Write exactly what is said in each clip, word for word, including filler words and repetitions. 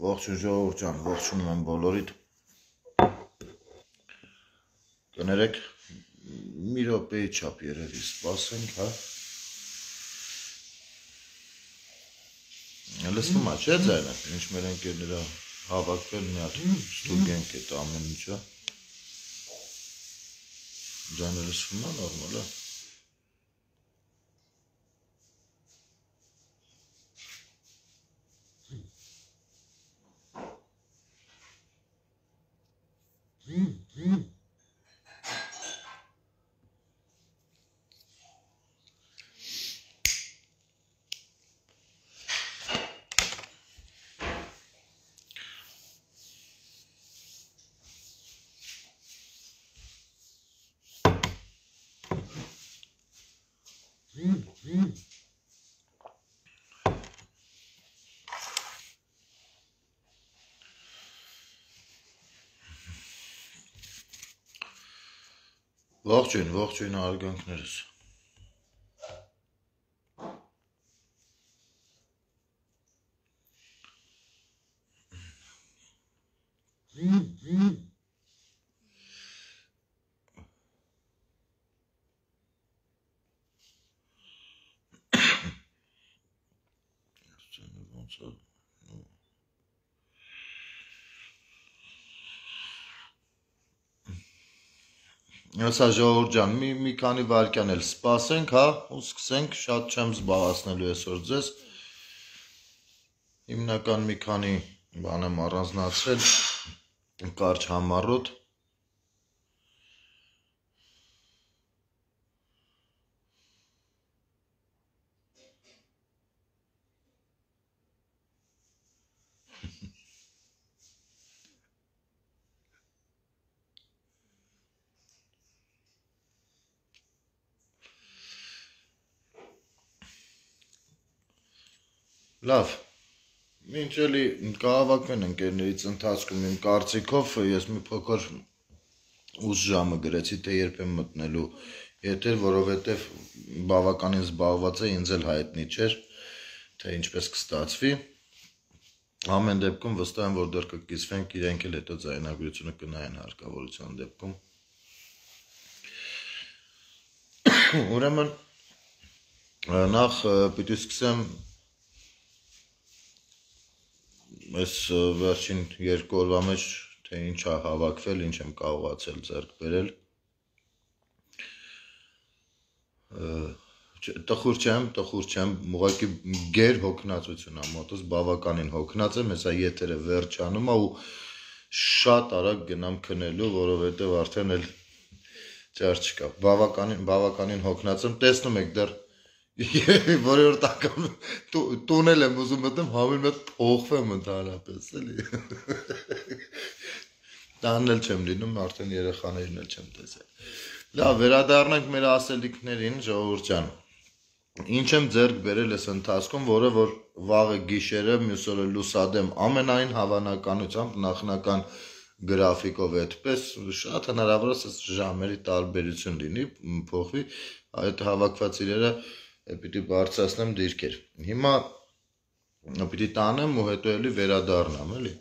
Ողջույն ժողովուրդ ջան, ողջունում եմ բոլորիդ։ Կներեք, մի րոպեի չափ երևի սպասենք, հա։ Լսվում է, չէ՞ ձայնը, ինչ մեր ընկերները հավաքվել մի հատ ստուգենք այդ ամեն ինչը։ Ձայնը լսվում է, նորմալ է։ Ողջույն, ողջույն արգանքներս։ Հեսա ժողովուրդ ջան, մի, մի քանի վայրկյան էլ սպասենք, հա, ու սկսենք, շատ չեմ զբաղացնելու այսօր ձեզ։ Հիմնական մի քանի բան եմ առանձնացրել, կարճ համառոտ։ Լավ, մինչ էլի կհավաքվեն ընկերներից ընթացքում իմ կարծիքով, ես մի փոքր ուշ ժամը գրեցի, թե երբ եմ մտնելու եթեր, որովհետև բավականին զբաղված է, ինձ էլ հայտնի չէր, թե ինչպես կստացվի։ Ամեն դեպքում վստահ եմ, որ դեռ կկիսվենք, իրենք էլ հետո ձայնագրությունը կնայեն հարկավորության դեպքում։ Ուրեմն նախ պիտի սկսեմ այս վերջին երկու օրվա մեջ, թե ինչ է հավաքվել, ինչ եմ կարողացել ձեռք բերել։ Տխուր չեմ, տխուր չեմ, ուղղակի գեր հոգնածություն է մոտս, բավականին հոգնած եմ, հեսա եթերը վերջանում է ու շատ արագ գնամ քնելու, որովհետև արդեն էլ ճար չկա։ Բավականին, բավականին հոգնած եմ, տեսնում եք դեռ որևէ անգամ տունել եմ ուզում մտնում, համին մետ փոխվեմ ընդհանրապես, էլի։ Տանն էլ չեմ լինում, արդեն երեխաներին էլ չեմ տեսել։ Լավ, վերադառնանք մեր ասելիքներին, ժողովուրդ ջան։ Ինչ եմ ձեռք բերել այս ընթացքում, որը որ վաղը գիշերը, մյուս օրը լուսադեմ, ամենայն հավանականությամբ նախնական գրաֆիկով այդպես, շատ հնարավոր է ժամերի տարբերություն լինի, փոխվի, այդ հավաքված իրերը պիտի բարձրացնեմ դիրքեր։ Հիմա պիտի տանեմ ու հետո էլի վերադառնամ, էլի։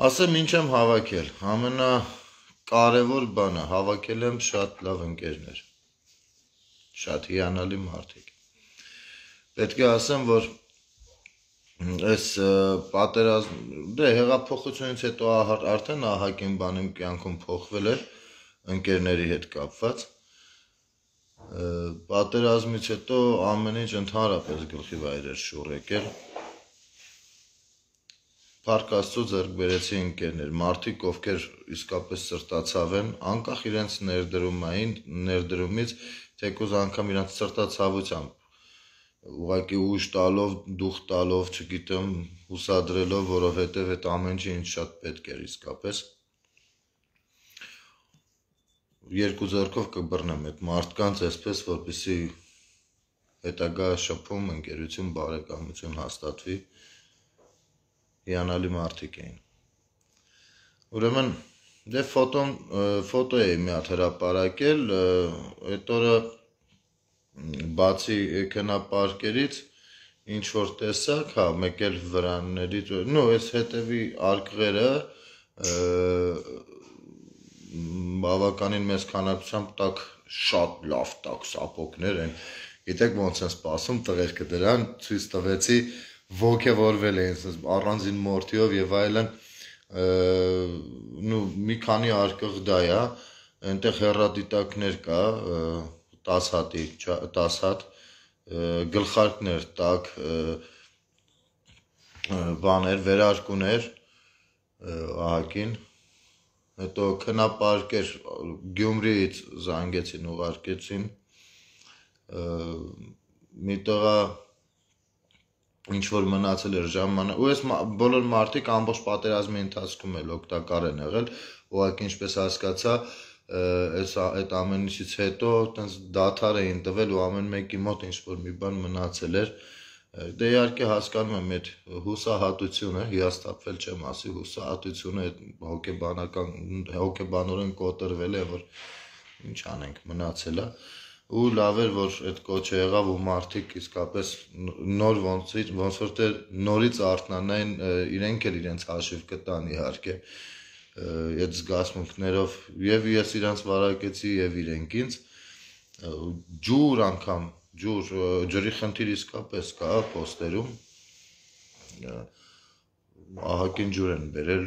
Ասեմ ինչ եմ հավաքել, ամենակարևոր բանը, հավաքել եմ շատ լավ ընկերներ, շատ հիանալի մարդիկ։ Պետք է ասեմ, որ այս պատերազմ, դե հեղափոխությունից հետո արդեն ահագին բան իմ կյանքում փոխվել է ընկերների հետ կապված։ Պատերազմից հետո ամեն ինչ ընդհանրապես գլխի վայր էր շուռ եկել։ Փառք Աստծո ձեռք բերեցի ընկերներ, մարդիկ, ովքեր իսկապես սրտացավ են, անկախ իրենց ներդրումային, ներդրումից, թեկուզ անգամ իրենց սրտացավությամբ, ուղղակի ուժ տալով, դուխ տալով, չգիտեմ, հուսադրելով, որովհետև այդ ամեն ինչը ինձ շատ պետք էր իսկապես։ Երկու ձեռքով կբռնեմ այդ մարդկանց, այսպես, որպեսզի հետագա շփում, ընկերություն, բարեկամություն հաստատվի, հիանալի մարդիկ էին։ Ուրեմն Դե ֆոտոն ֆոտո էի մի հատ հրապարակել, այդ օրը բացի էկրանապարկերից ինչ որ տեսակ, հա, մեկ էլ վրաններից, նո, այս հետևի արկղերը բավականին մեծ քանակությամբ տակ շատ լավ տակ սապոգներ են։ Գիտեք ոնց են սպասում տղերքը դրան, ցույց տվեցի, ոգևորվել էին առանձին մորթիով եւ այլն, նու մի քանի արկղ դա է, այնտեղ հեռադիտակներ կա, տասը հատի, տասը հատ, գլխարկներ տակ, բաներ, վերարկուներ, ահագին, հետո քնապարկեր Գյումրիից զանգեցին, ուղարկեցին, մի տղա ինչ որ մնացել էր ժամանակ, ու այս բոլոր մարդիկ ամբողջ պատերազմի ընթացքում էլ օգտակար են եղել, ուղղակի ինչպես հասկացա, այս այդ ամենից հետո տենց դադար էին տվել ու ամեն մեկի մոտ ինչ որ մի բան մնացել էր, դե իհարկե հասկանում եմ այդ հուսահատությունը, հիասթափվել չեմ ասի, հուսահատությունը այդ հոգեբանական հոգեբանորեն կոտրվել է, որ ինչ անենք, մնացել է, ու լավ էր, որ այդ կոչը եղավ ու մարդիկ իսկապես նոր ոնց ոնց որ դեռ նորից արթնանային, իրենք էլ իրենց հաշիվ կտան իհարկե այդ զգացմունքներով, եւ ես իրանց վարակեցի եւ իրենք ինձ, ջուր անգամ ջուր, ջրի խնդիր իսկապես կա պոստերում, ահագին ջուր են բերել,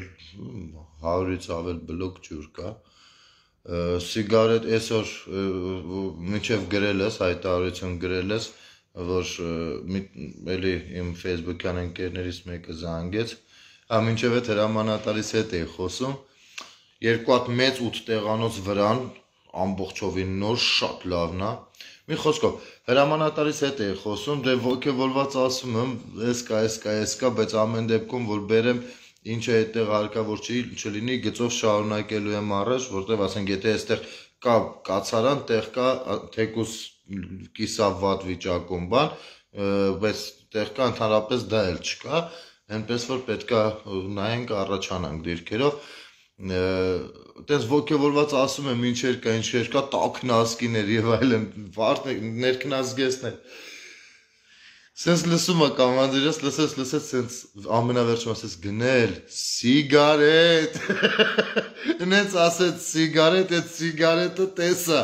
հարյուրից ավել բլոկ ջուր կա, սիգարետ այսօր մինչև գրել ես, հայտարարություն գրել ես, որ էլի իմ Facebook-յան ընկերներից մեկը զանգեց, հա մինչև այդ հրամանատարից հետ էի խոսում, երկու հատ մեծ ութ տեղանոց վրան, ամբողջովին նոր, շատ լավն է, մի խոսքով, հրամանատարից հետ էի խոսում, դե ոգևորված ասում եմ, ես կա, ես կա, ես կա, բայց ամեն դեպքում, որ բերեմ, ինչ է այդտեղ հարկավոր չլինի, գծով շարունակելու եմ առաջ, որտեղ ասենք, եթե այստեղ կա կացարան, տեղ կա թեկուս կիսավատ վիճակում բան, բայց տեղ կա ընդհանրապես դա էլ չկա, այնպես որ պետք է նայենք առաջանանք դիրքերով, տես ոգևորված ասում եմ ինչեր կա, ինչեր կա, տաքնազգիներ եւ այլն, ներքնազգեստներ, սենց լսում է կամանդիրս, լսեց, լսեց, սենց ամենավերջում ասեց գնել, սիգարետ, նենց ասեց սիգարետ, այդ սիգարետը տեսա,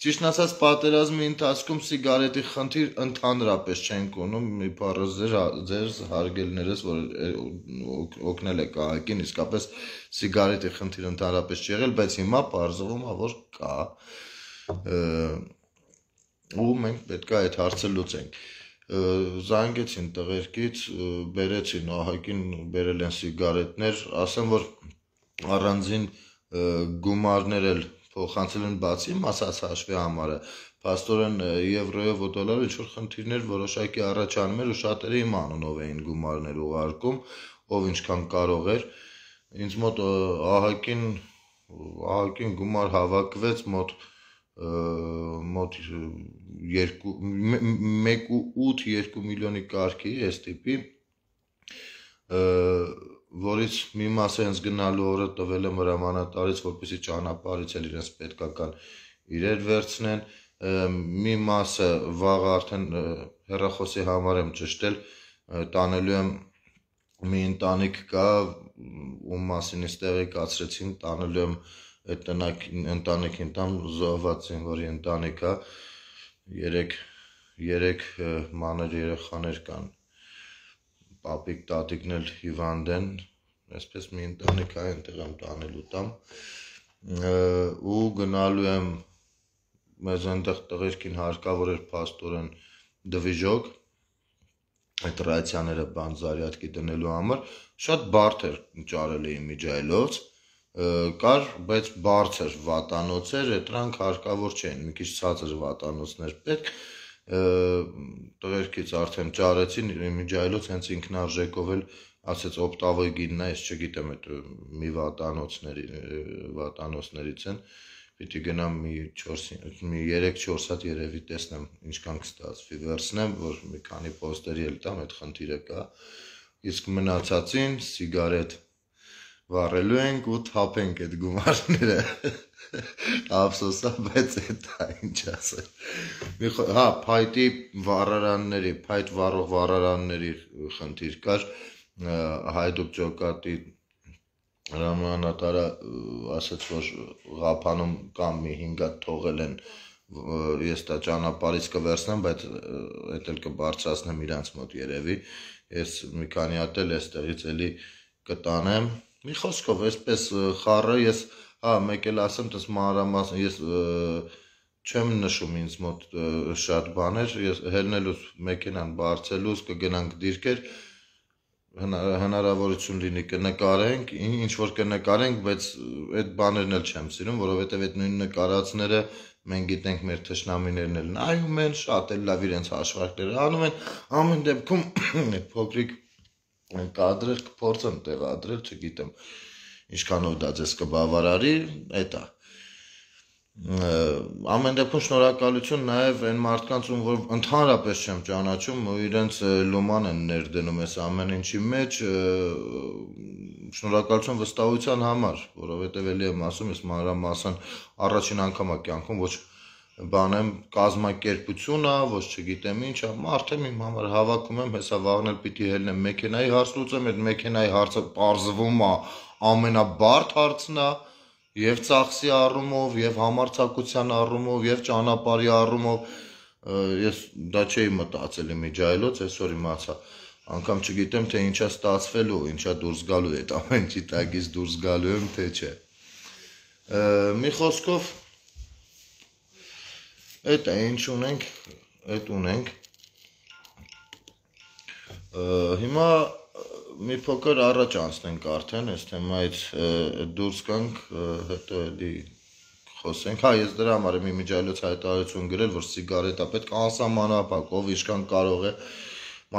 ճիշտն ասած պատերազմի ընթացքում սիգարետի խնդիր ընդհանրապես չենք ունում, մի բառը ձեր հարգելիներս, որ օգնել եք ահագին, իսկապես սիգարետի խնդիր ընդհանրապես չի եղել, բայց հիմա պարզվում է, որ կա, ու մենք պետք է այդ հարցը լուծենք, զանգեցին տղերքից, բերեցին ահագին, բերել են սիգարետներ, ասեմ, որ առանձին գումարներ էլ փոխանցել են բացի մասած հաշվի համարը, փաստորեն եվրոյով ու դոլարով ինչ որ խնդիրներ որոշակի առաջանում էր ու շատերը իմ անունով էին գումարներ ուղարկում, ով ինչքան կարող էր, ինձ մոտ ահագին ահագին գումար հավաքվեց մոտ մոտ մեկ ու ութ երկու միլիոնի կարգի այս տիպի, որից մի մասը հենց գնալու օրը տվել եմ հրամանատարից, որպեսզի ճանապարհից էլ իրենց պետքական իրեր վերցնեն, մի մասը վաղ արդեն հեռախոսի համար եմ ճշտել, տանելու եմ մի ընտանիք կա, ում մասին ինձ տեղեկացրեցին, տանելու եմ այդ ընտանիքին տամ զոհված զինվորի ընտանիք է, երեք երեք մանր երեխաներ կան, պապիկ տատիկն էլ հիվանդ են, այսպես մի ընտանիք է, այնտեղ եմ տանելու տամ, ու գնալու եմ, մեզ այնտեղ տղերքին հարկավոր էր փաստորեն դվիժոկ, այդ ռացիաները բան զարյատկի դնելու համար, շատ բարդ էր ճարել էի միջայլոց, կար, բայց բարձր վատանոց էր, դրանք հարկավոր չէին, մի քիչ ցածր վատանոցներ պետք, տղերքից արդեն ճարեցին, միջայլոց հենց ինքնարժեքով էլ ասեց օպտավոյ գինն է, ես չգիտեմ այդ մի վատանոցներից են, պիտի գնամ մի երեք չորս հատ երևի տեսնեմ ինչքան կստացվի, վերցնեմ, որ մի քանի պոստերի էլ տամ, այդ խնդիրը կա, իսկ մնացածին սիգարետ, վառելու ենք ու թափենք այդ գումարները։ Ափսոսա, բայց դա ինչ ասել։ Հա, փայտի վառարանների, փայտ վառող վառարանների խնդիր կար, Հայդուկ ջոկատի հրամանատարը ասաց, որ Ղափանում կամ մի հինգ հատ թողել են, ես դա ճանապարհից կվերցնեմ, բայց էդ էլ կբարձրացնեմ իրանց մոտ երևի, ես մի քանի հատ էլ էստեղից էլի կտանեմ, մի խոսքով, այսպես խառը ես, հա, մեկ էլ ասեմ, տես մանրամասն, ես չեմ նշում ինձ մոտ շատ բաներ, ես հելնելուց մեքենան բարձելուց կգնանք դիրքեր, հնարավորություն լինի կնկարենք, ինչ որ կնկարենք, բայց այդ բաներն էլ չեմ սիրում, որովհետև այդ նույն նկարածները մենք գիտենք մեր թշնամիներն էլ նայում են, շատ էլ լավ իրենց հաշվարկները անում են, ամեն դեպքում փոքրիկ կադրեր կփորձեմ տեղադրել, չգիտեմ ինչքանով դա ձեզ կբավարարի, էտա ամեն դեպքում շնորհակալություն նաև այն մարդկանց, ում որ ընդհանրապես չեմ ճանաչում ու իրենց լոման են ներդնում այս ամեն ինչի մեջ, շնորհակալություն վստահության համար, որովհետև էլի եմ ասում, ես մանրամասն առաջին անգամ է կյանքում ոչ բան եմ կազմակերպություն է, ոչ չգիտեմ ինչ է, մարդ եմ իմ համար հավաքում եմ, հեսա վաղն էլ պիտի հելնեմ մեքենայի հարց լուծեմ, այդ մեքենայի հարցը պարզվում է ամենաբարդ հարցն է, եւ ծախսի առումով, եւ համարձակության առումով, եւ ճանապարհի առումով, ես դա չէի մտածել իմիջայլոց, այսօր իմացա, անգամ չգիտեմ թե ինչա ստացվելու, ինչա դուրս գալու է, այդ ամեն ինչի տակից դուրս գալու եմ, թե չէ։ Մի խոսքով Էդ է, ինչ ունենք, էդ ունենք, հիմա մի փոքր առաջ անցնենք արդեն, այս թեմայից դուրս գանք, հետո էլի խոսենք, հա, ես դրա համար եմ իմիջայլոց հայտարարություն գրել, որ սիգարետա պետք է անսահմանափակ, ով ինչքան կարող է,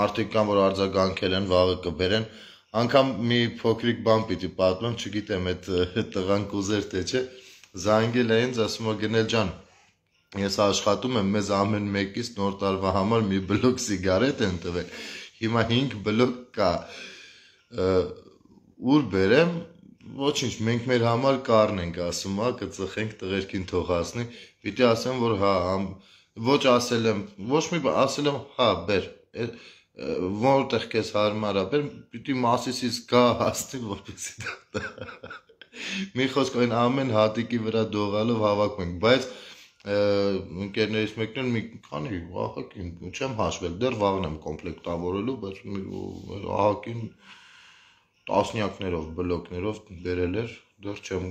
մարդիկ կան, որ արձագանքել են, վաղը կբերեն, անգամ մի փոքրիկ բան պիտի պատմեմ, չգիտեմ, այդ տղան կուզեր թե չէ, զանգել է ինձ, ասում է գնել ջան, ես աշխատում եմ, մեզ ամեն մեկից նոր տարվա համար մի բլոկ սիգարետ են տվել, հիմա հինգ բլոկ կա, ուր բերեմ, ոչինչ, մենք մեր համար կառնենք, ասում է, կծխենք տղերքին թող հասնի, պիտի ասեմ, որ հա, ոչ ասել եմ, ոչ մի բան, ասել եմ, հա, բեր, որտեղ քեզ հարմար է, բեր, պիտի մասիսից գա հասնի, որպեսզի դա մի խոսք այն ամեն հատիկի վրա դողալով հավաքում ենք, բայց ընկերներից մեկն էլ մի քանի ահագին չեմ հաշվել, դեռ վաղն եմ կոմպլեկտավորելու, բայց ահագին տասնյակներով, բլոկներով բերել էր, դեռ չեմ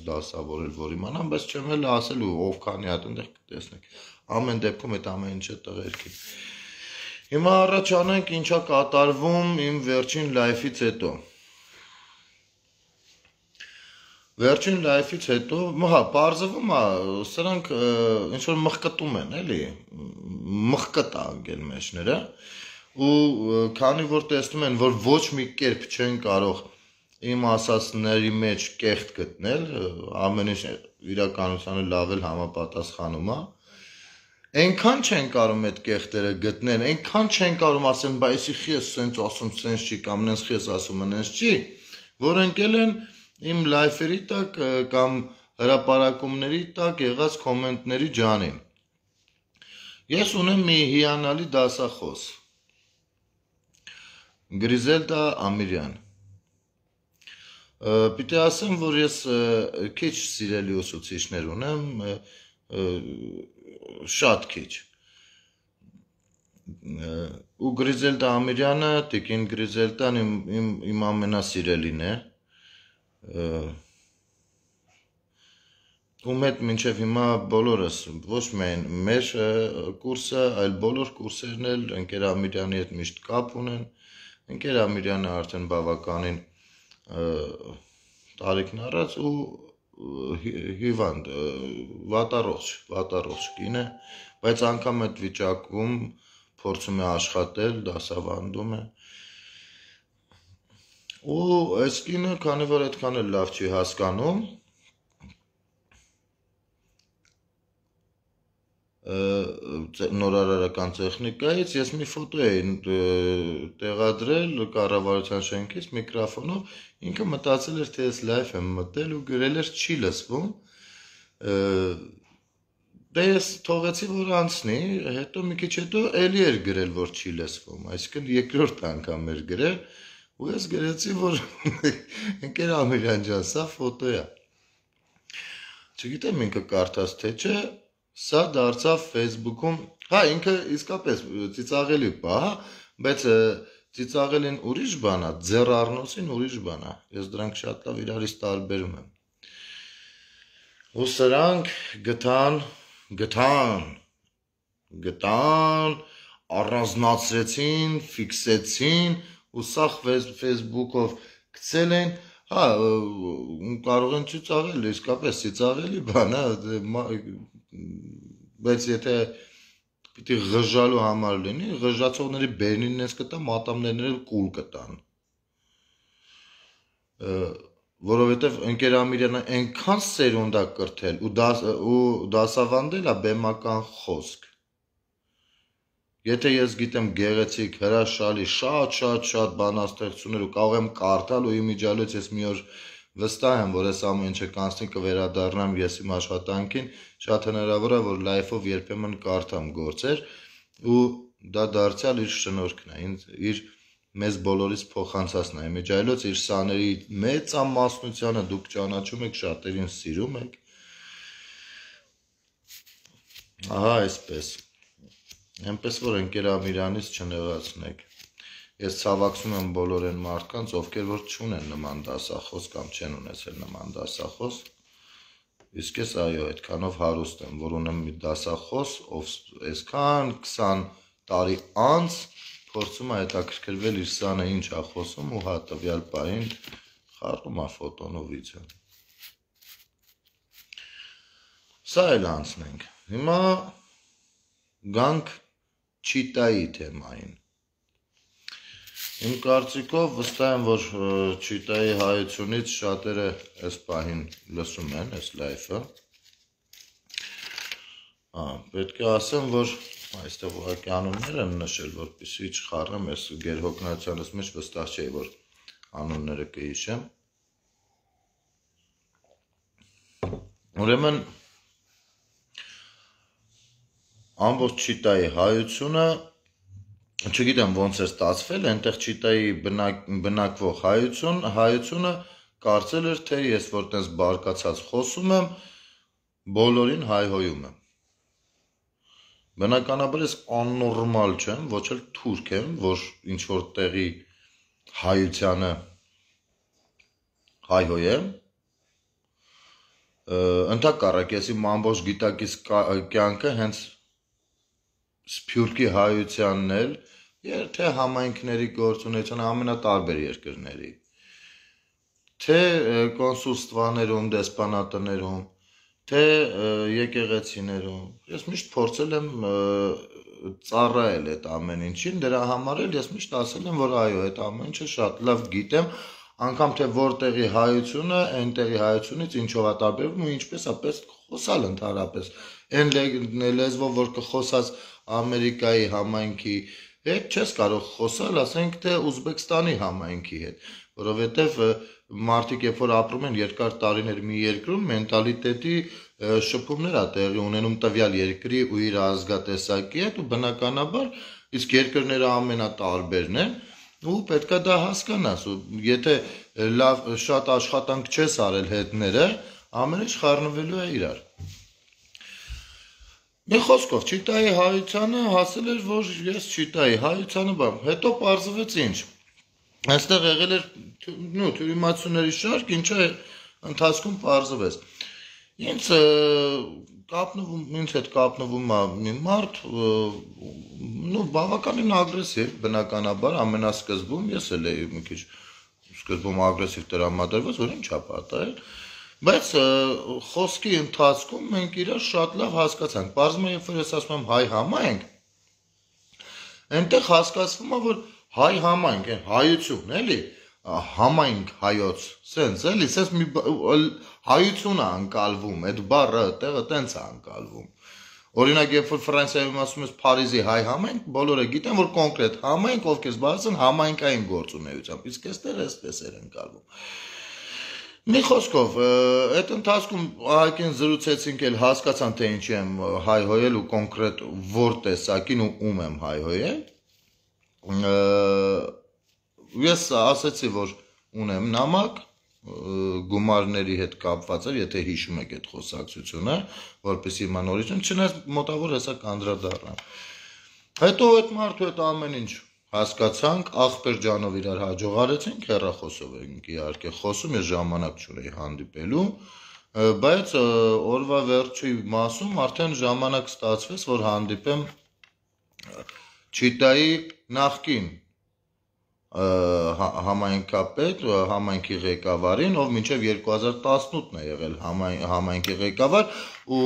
դասավորել, որ իմանամ, բայց չեմ էլ ասել ու ով քանի հատ այնտեղ կտեսնենք, ամեն դեպքում այդ ամեն ինչը տղերքի։ Հիմա առաջ անենք ինչա կատարվում իմ վերջին լայֆից հետո։ Վերջին լայֆից հետո, հա, պարզվում է, սրանք ինչ-որ մխկտում են, էլի, մխկտ անգել մեջները, ու քանի որ տեսնում են, որ ոչ մի կերպ չեն կարող իմ ասածների մեջ կեղտ գտնել, ամեն ինչ իրականությանը լավ էլ համապատասխանում է, այնքան չեն կարող այդ կեղտերը գտնել, այնքան չեն կարող ասեն, բա էսի խես սենց ասում, սենց չի, կամ նենց խես ասում, նենց չի, որ ընկել են իմ լայֆերի տակ կամ հրապարակումների տակ եղած կոմենտների ջանին։ Ես ունեմ մի հիանալի դասախոս, Գրիզելդա Ամիրյան։ Պիտի ասեմ, որ ես քիչ սիրելի ուսուցիչներ ունեմ, շատ քիչ։ Ու Գրիզելդա Ամիրյանը, Տիկին Գրիզելդան իմ ամենասիրելին է։ Ում հետ մինչև հիմա բոլորս, ոչ միայն մեր կուրսը, այլ բոլոր կուրսերն էլ ընկեր Ամիրյանի հետ միշտ կապ ունեն, ընկեր Ամիրյանը արդեն բավականին տարիքն առած ու հիվանդ, վատառողջ, վատառողջ կին է, բայց անգամ այդ վիճակում փորձում է աշխատել, դասավանդում է։ Ու այս կինը, քանի որ այդքան էլ լավ չի հասկանում, նորարարական տեխնիկայից ես մի ֆոտո էի տեղադրել կառավարության շենքից միկրոֆոնով, ինքը մտածել էր, թե ես լայվ եմ մտել ու գրել էր չի լսվում, դե ես թողեցի, որ անցնի, հետո մի քիչ հետո էլի էր գրել, որ չի լսվում, այսինքն երկրորդ անգամ էր գրել, ու ես գրեցի, որ ընկեր Ամիրյան ջան, սա ֆոտո է։ Չգիտեմ ինքը կարդաց թե չէ, սա դարձավ Facebook-ում, հա, ինքը իսկապես ծիծաղելի բա, բայց ծիծաղելին ուրիշ բան է, ձեռառնոցին ուրիշ բան է, ես դրանք շատ լավ իրարից տարբերում եմ։ Ու սրանք գտան, գտան, գտան, առանձնացրեցին, ֆիքսեցին, ու սա Facebook-ով գցել են, հա, կարող են ծիծաղել, իսկապես ծիծաղելի բան է, բայց եթե պիտի ղժալու համար լինի, ղժացողների բերնին ես կտա, մատամներն կուլ կտան։ Որովհետև ընկեր Ամիրյանը այնքան սերունդ է կրթել ու դասավանդել է բեմական խոսք։ Եթե ես գիտեմ գեղեցիկ, հրաշալի, շատ շատ շատ բանաստեղծություններ ու կարող եմ կարդալ ու իմիջիալից ես մի օր վստահ եմ, որ ես ամեն ինչը կանցնի կվերադառնամ ես իմ աշխատանքին, շատ հնարավոր է, որ լայֆով երբեմն կարդամ գործեր ու դա դարձյալ իր շնորհքն է, իր մեզ բոլորից փոխանցածն է, իմիջիալից իր սաների մեծամասնությանը դուք ճանաչում եք, շատերին սիրում եք։ Ահա այսպես։ Այնպես որ ընկեր Ամիրյանից չնեղացնեք։ Ես ցավակցում եմ բոլոր այն մարդկանց, ովքեր որ չունեն նման դասախոս կամ չեն ունեցել նման դասախոս։ Իսկ ես այո, այդքանով հարուստ եմ, որ ունեմ մի դասախոս, ով այսքան քսան տարի անց փորձում է հետաքրքրվել իր սանը ինչ է խոսում ու հա տվյալ պահին խառնում է ֆոտոն ու վիդեոն։ Սա էլ անցնենք։ Հիմա գանք Չիտայի թեմային։ Իմ կարծիքով վստահ եմ, որ Չիտայի հայությունից շատերը այս պահին լսում են այս լայֆը։ Պետք է ասեմ, որ այստեղ ուղղակի անուններ եմ նշել, որպեսզի չխառնեմ, ես գերհոգնածյանս մեջ վստահ չէի, որ անունները կհիշեմ։ Ուրեմն ամբողջ Չիտայի հայությունը, չգիտեմ ոնց է ստացվել, այնտեղ Չիտայի բնակվող հայություն, հայությունը կարծել էր, թե ես որ տես բարկացած խոսում եմ, բոլորին հայհոյում եմ։ Բնականաբար ես աննորմալ չեմ, ոչ էլ թուրք եմ, որ ինչ որ տեղի հայությանը հայհոյեմ։ Ընդհակառակ ես իմ ամբողջ գիտակից կյանքը հենց Սփյուռքի հայությանն էլ, թե համայնքների գործունեության ամենատարբեր երկրների, թե կոնսուլստվաներում, դեսպանատներում, թե եկեղեցիներում, ես միշտ փորձել եմ ծառայել այդ ամեն ինչին, դրա համար էլ ես միշտ ասել եմ, որ այո, այդ ամեն ինչը շատ լավ գիտեմ, անգամ թե որտեղի հայությունը, այնտեղի հայությունից ինչով է տարբերվում ու ինչպես է պես խոսալ ընդհանրապես, այն լեզվով, որ կխոսած Ամերիկայի համայնքի հետ չես կարող խոսալ, ասենք թե Ուզբեկստանի համայնքի հետ, որովհետև մարդիկ երբ որ ապրում են երկար տարիներ մի երկրում, մենտալիտետի շփումներ է տեղի ունենում տվյալ երկրի ու իր ազգատեսակի հետ ու բնականաբար իսկ երկրները ամենատարբերն են ու պետք է դա հասկանաս ու եթե լավ շատ աշխատանք չես արել հետները, ամեն ինչ խառնվելու է իրար։ Մի խոսքով, Չիտայի հայությանը հասել էր, որ ես Չիտայի հայությանը բան, հետո պարզվեց ինչ, այստեղ եղել էր թյուրիմացությունների շարք, ինչը ընթացքում պարզվեց, ինձ կապնվում, ինձ հետ կապնվում է մի մարդ, բավականին ագրեսիվ, բնականաբար, ամենասկզբում, ես էլ էի մի քիչ սկզբում ագրեսիվ տրամադրված, որ ինչ է պատահել, բայց խոսքի ընթացքում մենք իրար շատ լավ հասկացանք, պարզվում է, երբ որ ես ասում եմ հայ համայնք, այնտեղ հասկացվում է, որ հայ համայնք, հայություն, էլի, համայնք հայոց, սենց, էլի, սենց մի հայություն է անկալվում, այդ բառը տեղը տենց է անկալվում, Օրինակ, երբ որ Ֆրանսիայում ասում ես Փարիզի հայ համայնք, բոլորը գիտեն, որ կոնկրետ համայնք, ովքեր զբաղված են համայնքային գործունեությամբ, իսկ այստեղ էսպես էր ընկալվում։ Մի խոսքով, այդ ընթացքում ահագին զրուցեցինք, էլ հասկացան, թե ինչի եմ հայհոյել ու կոնկրետ որ տեսակին ու ում եմ հայհոյել։ Ես ասացի, որ ունեմ նամակ, գումարների հետ կապված էր, եթե հիշում եք այդ խոսակցությունը, որպեսզի հիմա նորից, չնայած մոտավոր հեսա կանդրադառնամ։ Հետո այդ մարդու հետ ամեն ինչ հասկացանք, աղբեր ջանով իրար հաջողարեցինք, հեռախոսով ենք իհարկե խոսում, ես ժամանակ չունեի հանդիպելու, բայց օրվա վերջի մասում արդեն ժամանակ ստացվեց, որ հանդիպեմ Չիտայի նախկին համայնքապետ, համայնքի ղեկավարին, ով մինչև երկու հազար տասնութն է եղել համայնքի ղեկավար ու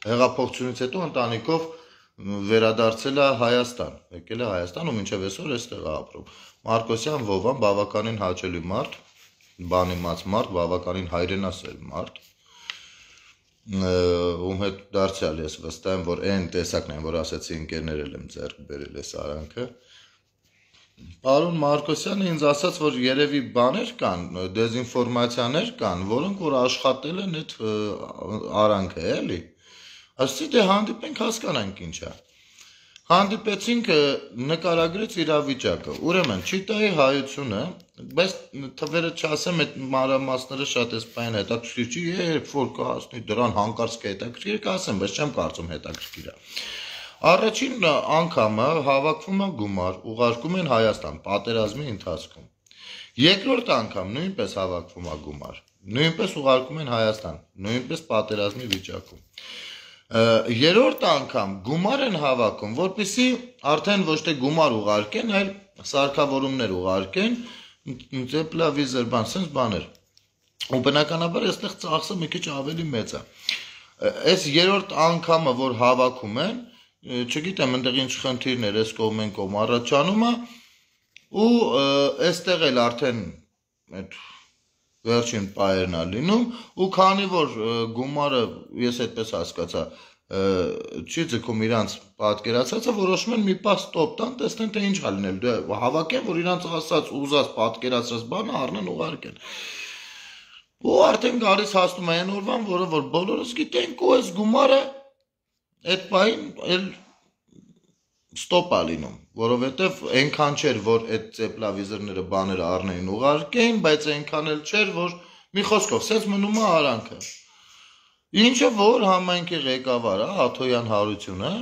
հեղափոխությունից հետո ընտանիքով վերադարձել է Հայաստան, եկել է Հայաստան ու մինչև այսօր այստեղ է ապրում։ Մարկոսյան Վովան բավականին հաճելի մարդ, բանիմաց մարդ, բավականին հայրենասեր մարդ, ում հետ դարձյալ ես վստահ եմ, որ այն տեսակն են, որ ասեցի ընկերներ եմ ձեռք բերել այս արանքը։ Պարոն Մարկոսյանը ինձ ասաց, որ երևի բաներ կան, դեզինֆորմացիաներ կան, որոնք որ աշխատել են այդ արանքը, էլի։ Ասեցի, դե հանդիպենք հասկանանք ինչ է։ Հանդիպեցինք, նկարագրեց իրավիճակը։ Ուրեմն, Չիտայի հայությունը, բայց թվերը չասեմ, այդ մանրամասները շատ էսպայն հետաքրքիր չի, երբ որ կհասնի դրան հանկարծ կհետաքրքիր, կասեմ, բայց չեմ կարծում հետաքրքիր է։ Առաջին անգամը հավաքվում է գումար, ուղարկում են Հայաստան, պատերազմի ընթացքում։ Երկրորդ անգամ նույնպես հավաքվում է գումար, նույնպես ուղարկում են Հայաստան, նույնպես պատերազմի վիճակում։ Երրորդ անգամ գումար են հավաքում, որպեսզի արդեն ոչ թե գումար ուղարկեն, այլ սարքավորումներ ուղարկեն, տեպլավիզեր, բան, sense բաներ։ Ու բնականաբար այստեղ ծախսը մի քիչ ավելի մեծ է։ Այս երրորդ անգամը, որ հավաքում են, չգիտեմ, այնտեղ ինչ խնդիրներ էս կողմեն կողմ առաջանում է ու այստեղ էլ արդեն այդ վերջին պայերն է լինում ու քանի որ գումարը ես այդպես հասկացա չի ձգում իրանց պատկերացածը, որոշում են մի պահ ստոպ տան, տեսնեն թե ինչ ա լինել, դե հավաքեն, որ իրանց ասած ուզած պատկերացրած բանը առնեն ուղարկեն։ Ու արդեն գալիս հասնում է այն օրվան, որը որ բոլորս գիտենք ու այս գումարը այդ պահին էլ ստոպ է լինում, որովհետև այնքան չէր, որ այդ տեպլավիզորները բաները առնեին ուղարկեին, բայց այնքան էլ չէր, որ մի խոսքով, սենց մնում է արանքը։ Ինչը որ համայնքի ղեկավարը, Աթոյան Հարությունը,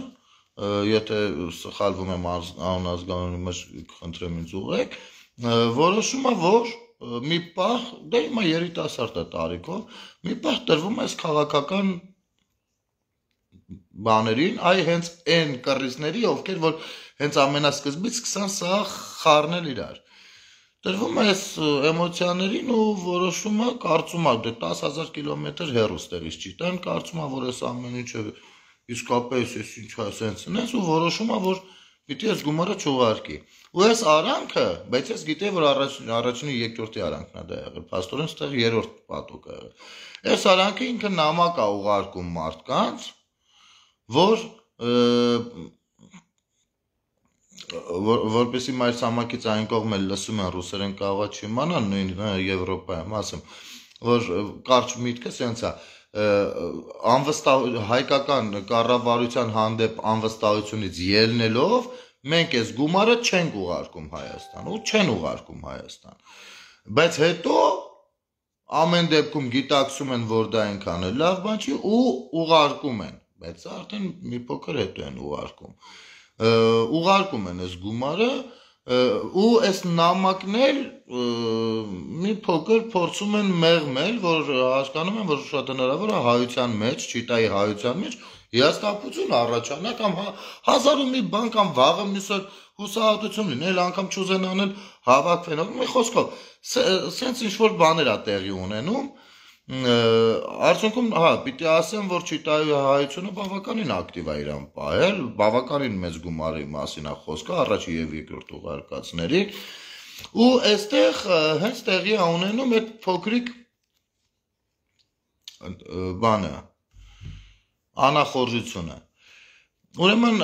եթե սխալվում եմ անազգանունի մեջ, խնդրեմ ինձ ուղղեք, որոշում է, որ մի պահ, դե հիմա երիտասարդ է տարիքով, մի պահ տրվում է այս քաղաքական բաներին, այ հենց այն կռիզների, ովքեր որ հենց ամենասկզբից սկսան սա խառնել իրար։ Տրվում է այս էմոցիաներին ու որոշում է, կարծում է, դե տասը հազար կիլոմետր հեռու ստեղից Չիտան, կարծում է, որ այս ամեն ինչը իսկապես էս ինչ է սենցն ես ու որոշում է, որ պիտի այս գումարը չուղարկի։ Ու այս արանքը, բայց ես գիտեի, որ առաջինի երկրորդի արանքն է դա եղել, փաստորեն ստեղ երրորդ պատուկը եղել։ Այս արանքը ինքը նամակ է ուղարկում մարդկանց, որ որպեսի մայր ցամաքից այն կողմը լսում են ռուսերեն կարող է չիմանան նույն Եվրոպայում, ասեմ, որ կարճ միտքը սենց է, անվստահ հայկական կառավարության հանդեպ անվստահությունից ելնելով մենք այս գումարը չենք ուղարկում Հայաստան ու չեն ուղարկում Հայաստան, բայց հետո ամեն դեպքում գիտակցում են, որ դա այնքան էլ լավ բան չի ու ուղարկում են, բայց արդեն մի փոքր հետո են ուղարկում, ուղարկում են այս գումարը ու այս նամակն էլ մի փոքր փորձում են մեղմել, որ հասկանում են, որ շատ հնարավոր է հայության մեջ, Չիտայի հայության մեջ հիասթափություն առաջանա կամ հազար ու մի բան կամ վաղը միսօր հուսահատություն լինի, էլ անգամ չուզեն անել հավաքվեն, մի խոսքով, սենց ինչ-որ բաներ է տեղի ունենում, արդյունքում, հա, պիտի ասեմ, որ Չիտայի հայությունը բավականին ակտիվ է իրան պահել, բավականին մեծ գումարի մասին է խոսքը, առաջի և երկրորդ ուղարկածների, ու այստեղ հենց տեղի է ունենում այդ փոքրիկ բանը, անախորժությունը, Ուրեմն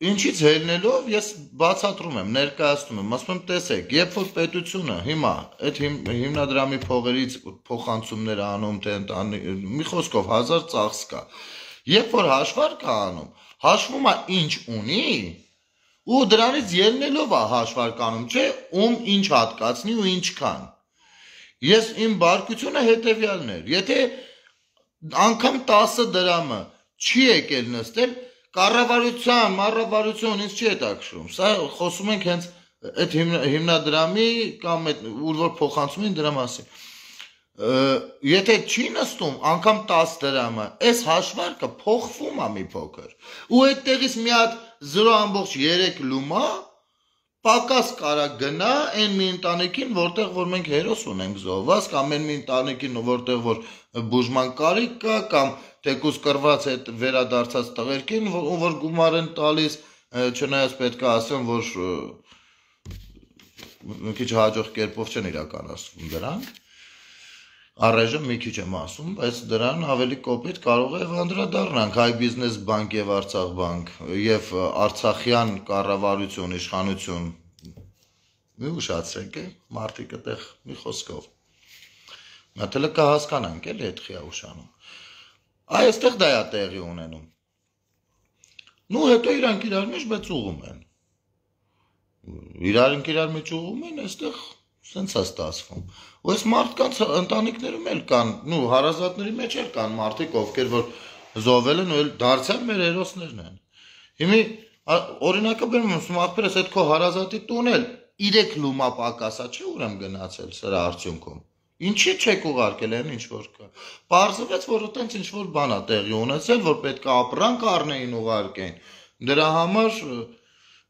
ինչից ելնելով ես բացատրում եմ, ներկայացնում եմ, ասում եմ, տեսեք, երբ որ պետությունը հիմա այդ հիմնադրամի փողերից փոխանցումներ անում, թե մի խոսքով հազար ծախս կա, երբ որ հաշվարկ է անում, հաշվում է ինչ ունի, ու դրանից ելնելով է հաշվարկ անում, չէ, ում ինչ հատկացնի ու ինչքան։ Ես իմ բարկությունը հետևյալն էր, եթե անգամ տասը դրամը չի եկել նստել, կառավարության, մառավարություն ինձ չի հետաքրքրում։ Սա խոսում ենք հենց այդ հիմնադրամի կամ այդ ուր որ փոխանցում են դրա մասին։ Եթե չի նստում անգամ տասը դրամը, այս հաշվարկը փոխվում է մի փոքր։ Ու այդտեղից մի հատ զրո ամբողջ երեք լումա պակաս կարա գնա այն մի ընտանիքին, որտեղ որ մենք հերոս ունենք զոհված, կամ այն մի ընտանիքին, որտեղ որ բուժման կարիք կա, կամ թեկուզ կռված այդ վերադարձած տղերքին, որ գումար են տալիս, չնայած պետք է ասեմ, որ մի քիչ հաջող կերպով չեն իրականացվում դրանք, առայժմ մի քիչ եմ ասում, բայց դրան ավելի կոպիտ կարող է անդրադառնանք Հայ բիզնես բանկ եւ Արցախ բանկ եւ Արցախյան կառավարություն, իշխանություն, մի ուշացրեք, մարդիկ այդտեղ մի խոսքով։ Մատելը կհասկանանք էլի այդ խիա ուշանում։ Այստեղ դա է տեղի ունենում։ Նու հետո իրանք իրար մեջ բայց ուղում են։ Իրար իրար մեջ ուղում են, այստեղ սենց է ստացվում։ Ու այս մարդկանց ընտանիքներում էլ կան, նու հարազատների մեջ էլ կան մարդիկ, ովքեր որ զոհվել են ու էլ դարձյալ մեր հերոսներն են։ Հիմի օրինակը բերում եմ, ախպերս այդ քո հարազատի տուն էլ երեք լումա պակասա չէ ուրեմ գնացել սրա արդյունքում։ Ինչի չեք ուղարկել այն ինչ որ կա։ Պարզվեց, որ այտենց ինչ որ բան է տեղի ունեցել, որ պետք է ապրանք առնեին ուղարկեն։ Դրա համար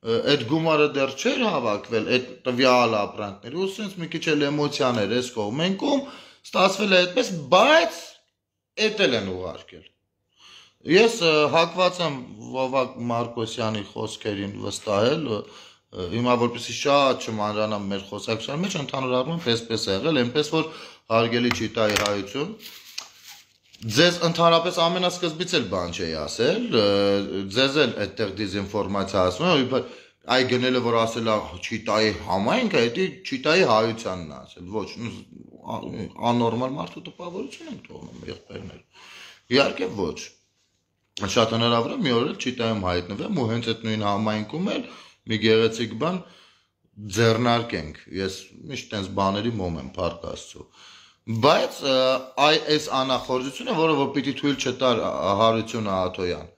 այդ գումարը դեռ չէր հավաքվել այդ տվյալ ապրանքների, ու sense մի քիչ էլ էմոցիաներ էս կողմենքում ստացվել է այդպես, բայց էդ էլ են ուղարկել։ Ես հակված եմ Վովակ Մարկոսյանի խոսքերին վստահել, հիմա որպեսզի շատ չմանրանամ մեր խոսակցության մեջ, ընդհանուր առմամբ այսպես է եղել, այնպես որ հարգելի Չիտայի հայություն, ձեզ ընդհանրապես ամենասկզբից էլ բան չէի ասել, ձեզ էլ այդտեղ դիզինֆորմացիա ասում եմ, այ գնելը որ ասել է Չիտայի համայնքը, դա Չիտայի հայությանն է ասել, ոչ, աննորմալ մարդու տպավորություն են թողնում եղբայրներ։ Իհարկե ոչ։ Շատ հնարավոր է մի օր էլ Չիտայում հայտնվեմ ու հենց այդ նույն համայնքում էլ մի գեղեցիկ բան ձեռնարկենք։ Ես միշտ այնպես բաների մոմ եմ, փառք Աստծո։ Բայց այ այս անախորժությունը, որը որ պիտի թույլ չտար Հարություն Ահաթոյան։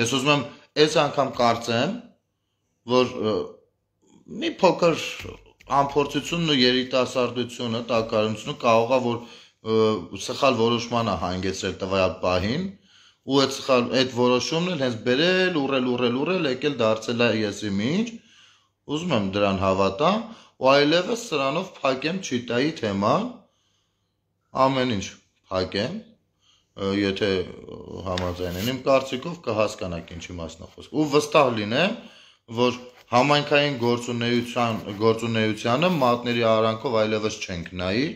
Ես ուզում եմ այս անգամ կարծեմ, որ մի փոքր անփորձությունն ու երիտասարդությունը, տակարությունը կարող է որ սխալ որոշման է հանգեցրել տվյալ պահին, ու այդ սխալ այդ որոշումն էլ հենց բերել, ուռել, ուռել, ուռել, եկել դարձել է եսի միջ, ուզում եմ դրան հավատամ, ու այլևս սրանով փակեմ Չիտայի թեման, ամեն ինչ փակեմ, եթե համաձայնեն, իմ կարծիքով կհասկանաք ինչի մասն է խոսքը, ու վստահ լինեմ, որ համայնքային գործունեության գործունեությանը մատների արանքով այլևս չենք նայի,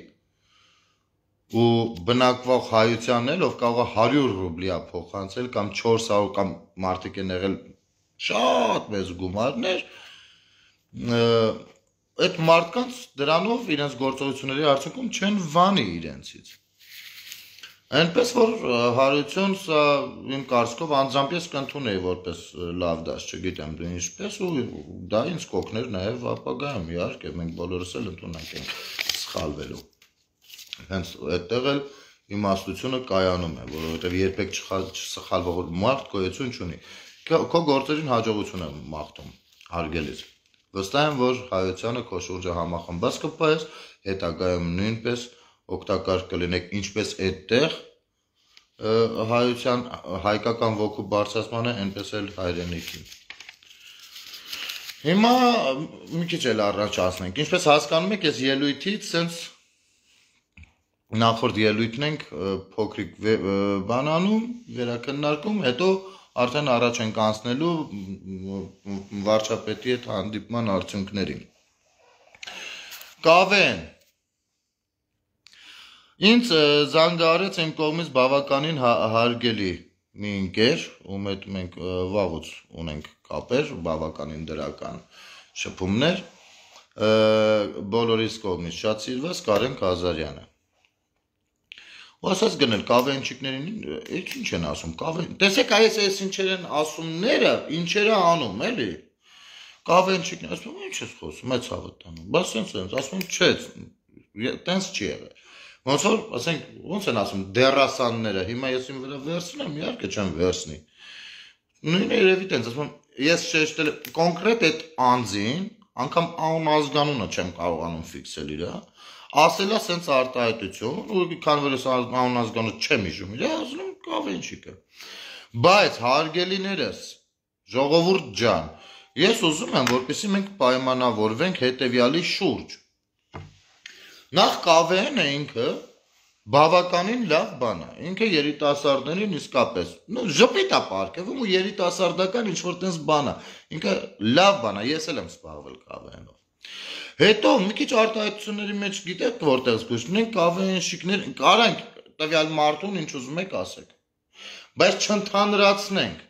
ու բնակվող հայությանն էլ, ով կարող է հարյուր ռուբլի փոխանցել կամ չորս հարյուր կամ մարդիկ են եղել շատ մեծ գումարներ, այդ մարդկանց դրանով իրենց գործողությունների արդյունքում չեն վանի իրենցից։ Այնպես որ Հարություն սա իմ կարծիքով անձամբ ես կընդունեի որպես լավ դաս, չգիտեմ դու ինչպես, ու դա ինձ կօգներ նաև ապագայում, իհարկե մենք բոլորս էլ ընդունենք ենք սխալվելու։ Հենց այդտեղ էլ իմաստությունը կայանում է, որովհետև երբեք չսխալվող մարդ գոյություն չունի։ Քո գործերին հաջողություն եմ մաղթում, հարգելից։ Վստահ եմ, որ հայությանը քո շուրջը համախմբած կպահես, հետագայում նույնպես օգտակար կլինեք ինչպես այդտեղ հայության հայկական ոգու բարձրացմանը, այնպես էլ հայրենիքի։ Հիմա մի քիչ էլ առաջ ասնենք, ինչպես հասկանում եք, ես ելույթից sense նախորդ ելույթն ենք փոքրիկ բանանում, վերակննարկում, հետո արդեն առաջ ենք անցնելու վարչապետի հետ հանդիպման արդյունքներին։ Կավեն Ինձ զանգարեց իմ կողմից բավականին հարգելի մի ընկեր, ում հետ մենք վաղուց ունենք կապեր, բավականին դրական շփումներ, բոլորիս կողմից շատ սիրված Կարեն Ղազարյանը։ Ու ասած գնել կավենչիկներին, ինչ են ասում, կավեն, տեսեք այս այս ինչեր են ասումները, ինչեր է անում, էլի։ Կավենչիկներ, ասում ինչ ես խոսում, մեծ հավատ տանում, բայց սենց սենց, ասում չէ, տենց չի եղել։ Ոնց որ, ասենք, ոնց են ասում, դերասանները, հիմա ես իմ վրա վերցնեմ, իհարկե չեմ վերցնի։ Նույնը երևի տենց, ասում, ես շեշտել կոնկրետ այդ անձին, անգամ անուն ազգանունը չեմ կարողանում ֆիքսել իրա, ասելա սենց արտահայտություն, ու քանի որ ես անուն ազգանունը չեմ հիշում իրա, ասում եմ կավենչիկը։ Բայց հարգելիներս, ժողովուրդ ջան, ես ուզում եմ, որպեսզի մենք պայմանավորվենք հետևյալի շուրջ։ Նախ կավենը ինքը բավականին լավ բան է, ինքը երիտասարդներին իսկապես, նո ժպիտ է պարգևում ու երիտասարդական ինչ-որ տես բան է, ինքը լավ բան է, ես էլ եմ սպաղվել կավենով։ Հետո մի քիչ արտահայտությունների մեջ գիտեք որտեղ զգուշ, մենք կավենշիկներ, կարանք տվյալ մարդուն ինչ ուզում եք ասեք, բայց չընդհանրացնենք,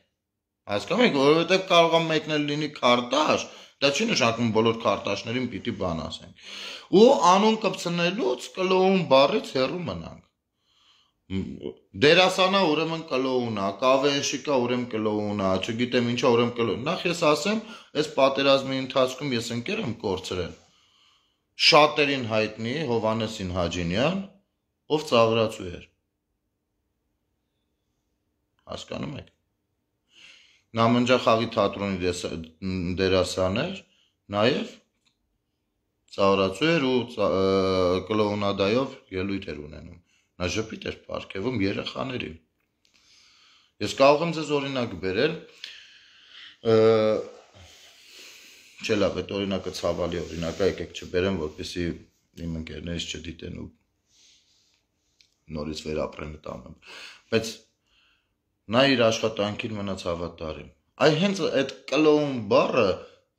հասկանում եք, որովհետև կարող է մեկնել լինի քարտաշ, դա չի նշանակում բոլոր քարտաշներին պիտի բան ասենք։ Ու անուն կպցնելուց կլոուն բառից հեռու մնանք։ Դերասանա ուրեմն կլոունա, կավենշիկա ուրեմն կլոունա, չգիտեմ ինչա ուրեմն կլոուն։ Նախ ես ասեմ, այս պատերազմի ընթացքում ես ընկեր եմ կորցրել շատերին հայտնի Հովհաննեսին Հաջինյան, ով ծաղրացու էր։ Հասկանում եք։ Նամնջախաղի թատրոնի դերասան էր, նաև ծաղրացու էր ու կլոունադայով ելույթ էր ունենում։ Նա ժպիտ էր պարգևում երեխաներին։ Ես կարող եմ ձեզ օրինակ բերել, չէ լավ, այդ օրինակը ցավալի օրինակ է, եկեք չբերեմ, որպեսզի իմ ընկերներից չդիտեն ու նորից վերապրեն տանեմ։ Բայց նա իր աշխատանքին մնաց հավատարիմ։ Այ հենց այդ կլոուն բառը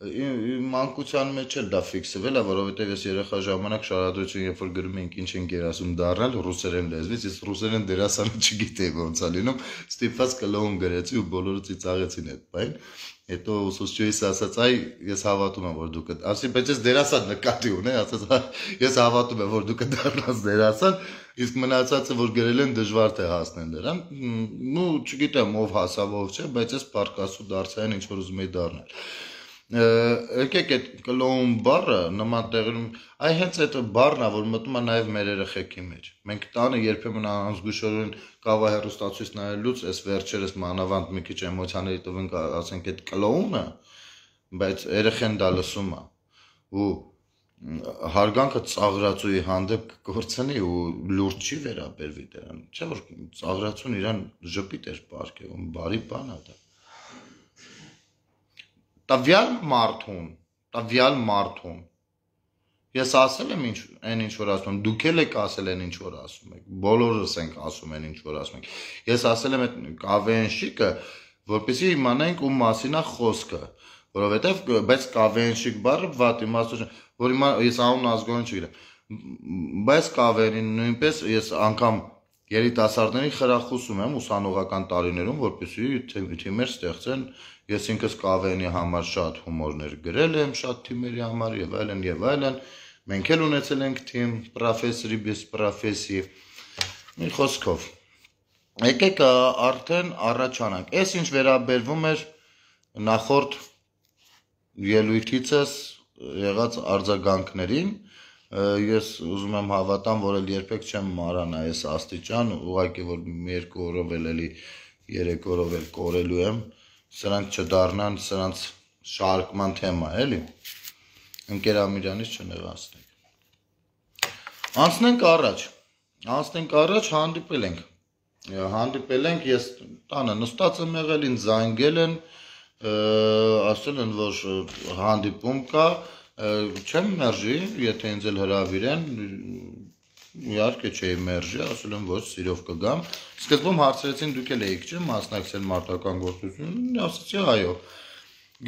մանկության մեջ էլ դա ֆիքսվել է, որովհետև ես երեխա ժամանակ շարադրություն, երբ որ գրում էինք ինչ են գերասում դառնալ ռուսերեն լեզվից, ես ռուսերեն դերասանը չգիտեի ոնց է լինում, ստիպված կլոուն գրեցի ու բոլորը ծիծաղեցին այդ բան։ Հետո ուսուցչուհիս ասաց, այ ես հավատում եմ, որ դու կդ, ասի, բայց ես դերասան նկատի ունեի, ասաց, ես հավատում եմ, որ դու կդառնաս դերասան, իսկ մնացածը, որ գրել են դժվար թե հասնեն դրան, նու չգիտեմ ով հասավ, ով չէ, բայց ես պարկասու դարձային ինչ որ ուզում էի դառնել։ Եկեք այդ կլոուն բառը նման տեղերում, այ հենց այդ բառն է, որ մտնում է նաև մեր երեխեքի մեջ։ Մենք տանը երբեմն անզգուշորեն կավա հեռուստացույց նայելուց, այս վերջերս մանավանդ մի քիչ էմոցիաների տվենք, ասենք այդ կլոունը, բայց երեխեն դա լսում է ու հարգանքը ծաղրացուի հանդեպ կկործնի ու լուրջ չի վերաբերվի դրան, չէ՞ որ ծաղրացուն իրան ժպիտ էր պարգևում, բարի բան է դա։ Տվյալ մարդուն, տվյալ մարդուն, ես ասել եմ այն ինչ որ ասում եմ, դուք էլ եք ասել այն ինչ որ ասում եք, բոլորս ենք ասում այն ինչ որ ասում ենք, ես ասել եմ այդ կավենշիկը, որպեսզի իմանանք ում մասին է խոսքը, որովհետև բայց կավենշիկ բառը վատ իմաստություն, որ հիմա ես անուն ազգանուն չգիտեմ, բայց կավենին նույնպես ես անգամ երիտասարդներին խրախուսում եմ ուսանողական տարիներում, որպեսզի թիմեր ստեղծեն, ես ինքս կավենի համար շատ հումորներ գրել եմ, շատ թիմերի համար եւ այլն եւ այլն, մենք էլ ունեցել ենք թիմ, պրոֆեսորի без պրոֆեսի, մի խոսքով։ Եկեք արդեն առաջանանք։ Այս ինչ վերաբերվում էր նախորդ ելույթիցս եղած արձագանքներին, ես ուզում եմ հավատամ, որ էլ երբեք չեմ մարանա այս աստիճան, ուղղակի որ մի երկու օրով էլ էլի երեք օրով էլ կորելու եմ, սրանք չդառնան, սրանց շարքման թեմա, էլի, ընկերամիրանից չնեղացնենք։ Անցնենք առաջ, անցնենք առաջ, հանդիպել ենք, հանդիպել ենք, ես տանը նստած եմ եղել, ինձ զանգել են, ասել են, որ հանդիպում կա, չեմ մերժի, եթե ինձ էլ հրավիրեն, իհարկե չէի մերժի, ասել եմ, ոչ սիրով կգամ, սկզբում հարցրեցին դուք էլ էիք չէ մասնակցել մարտական գործունեություն, ասացի այո,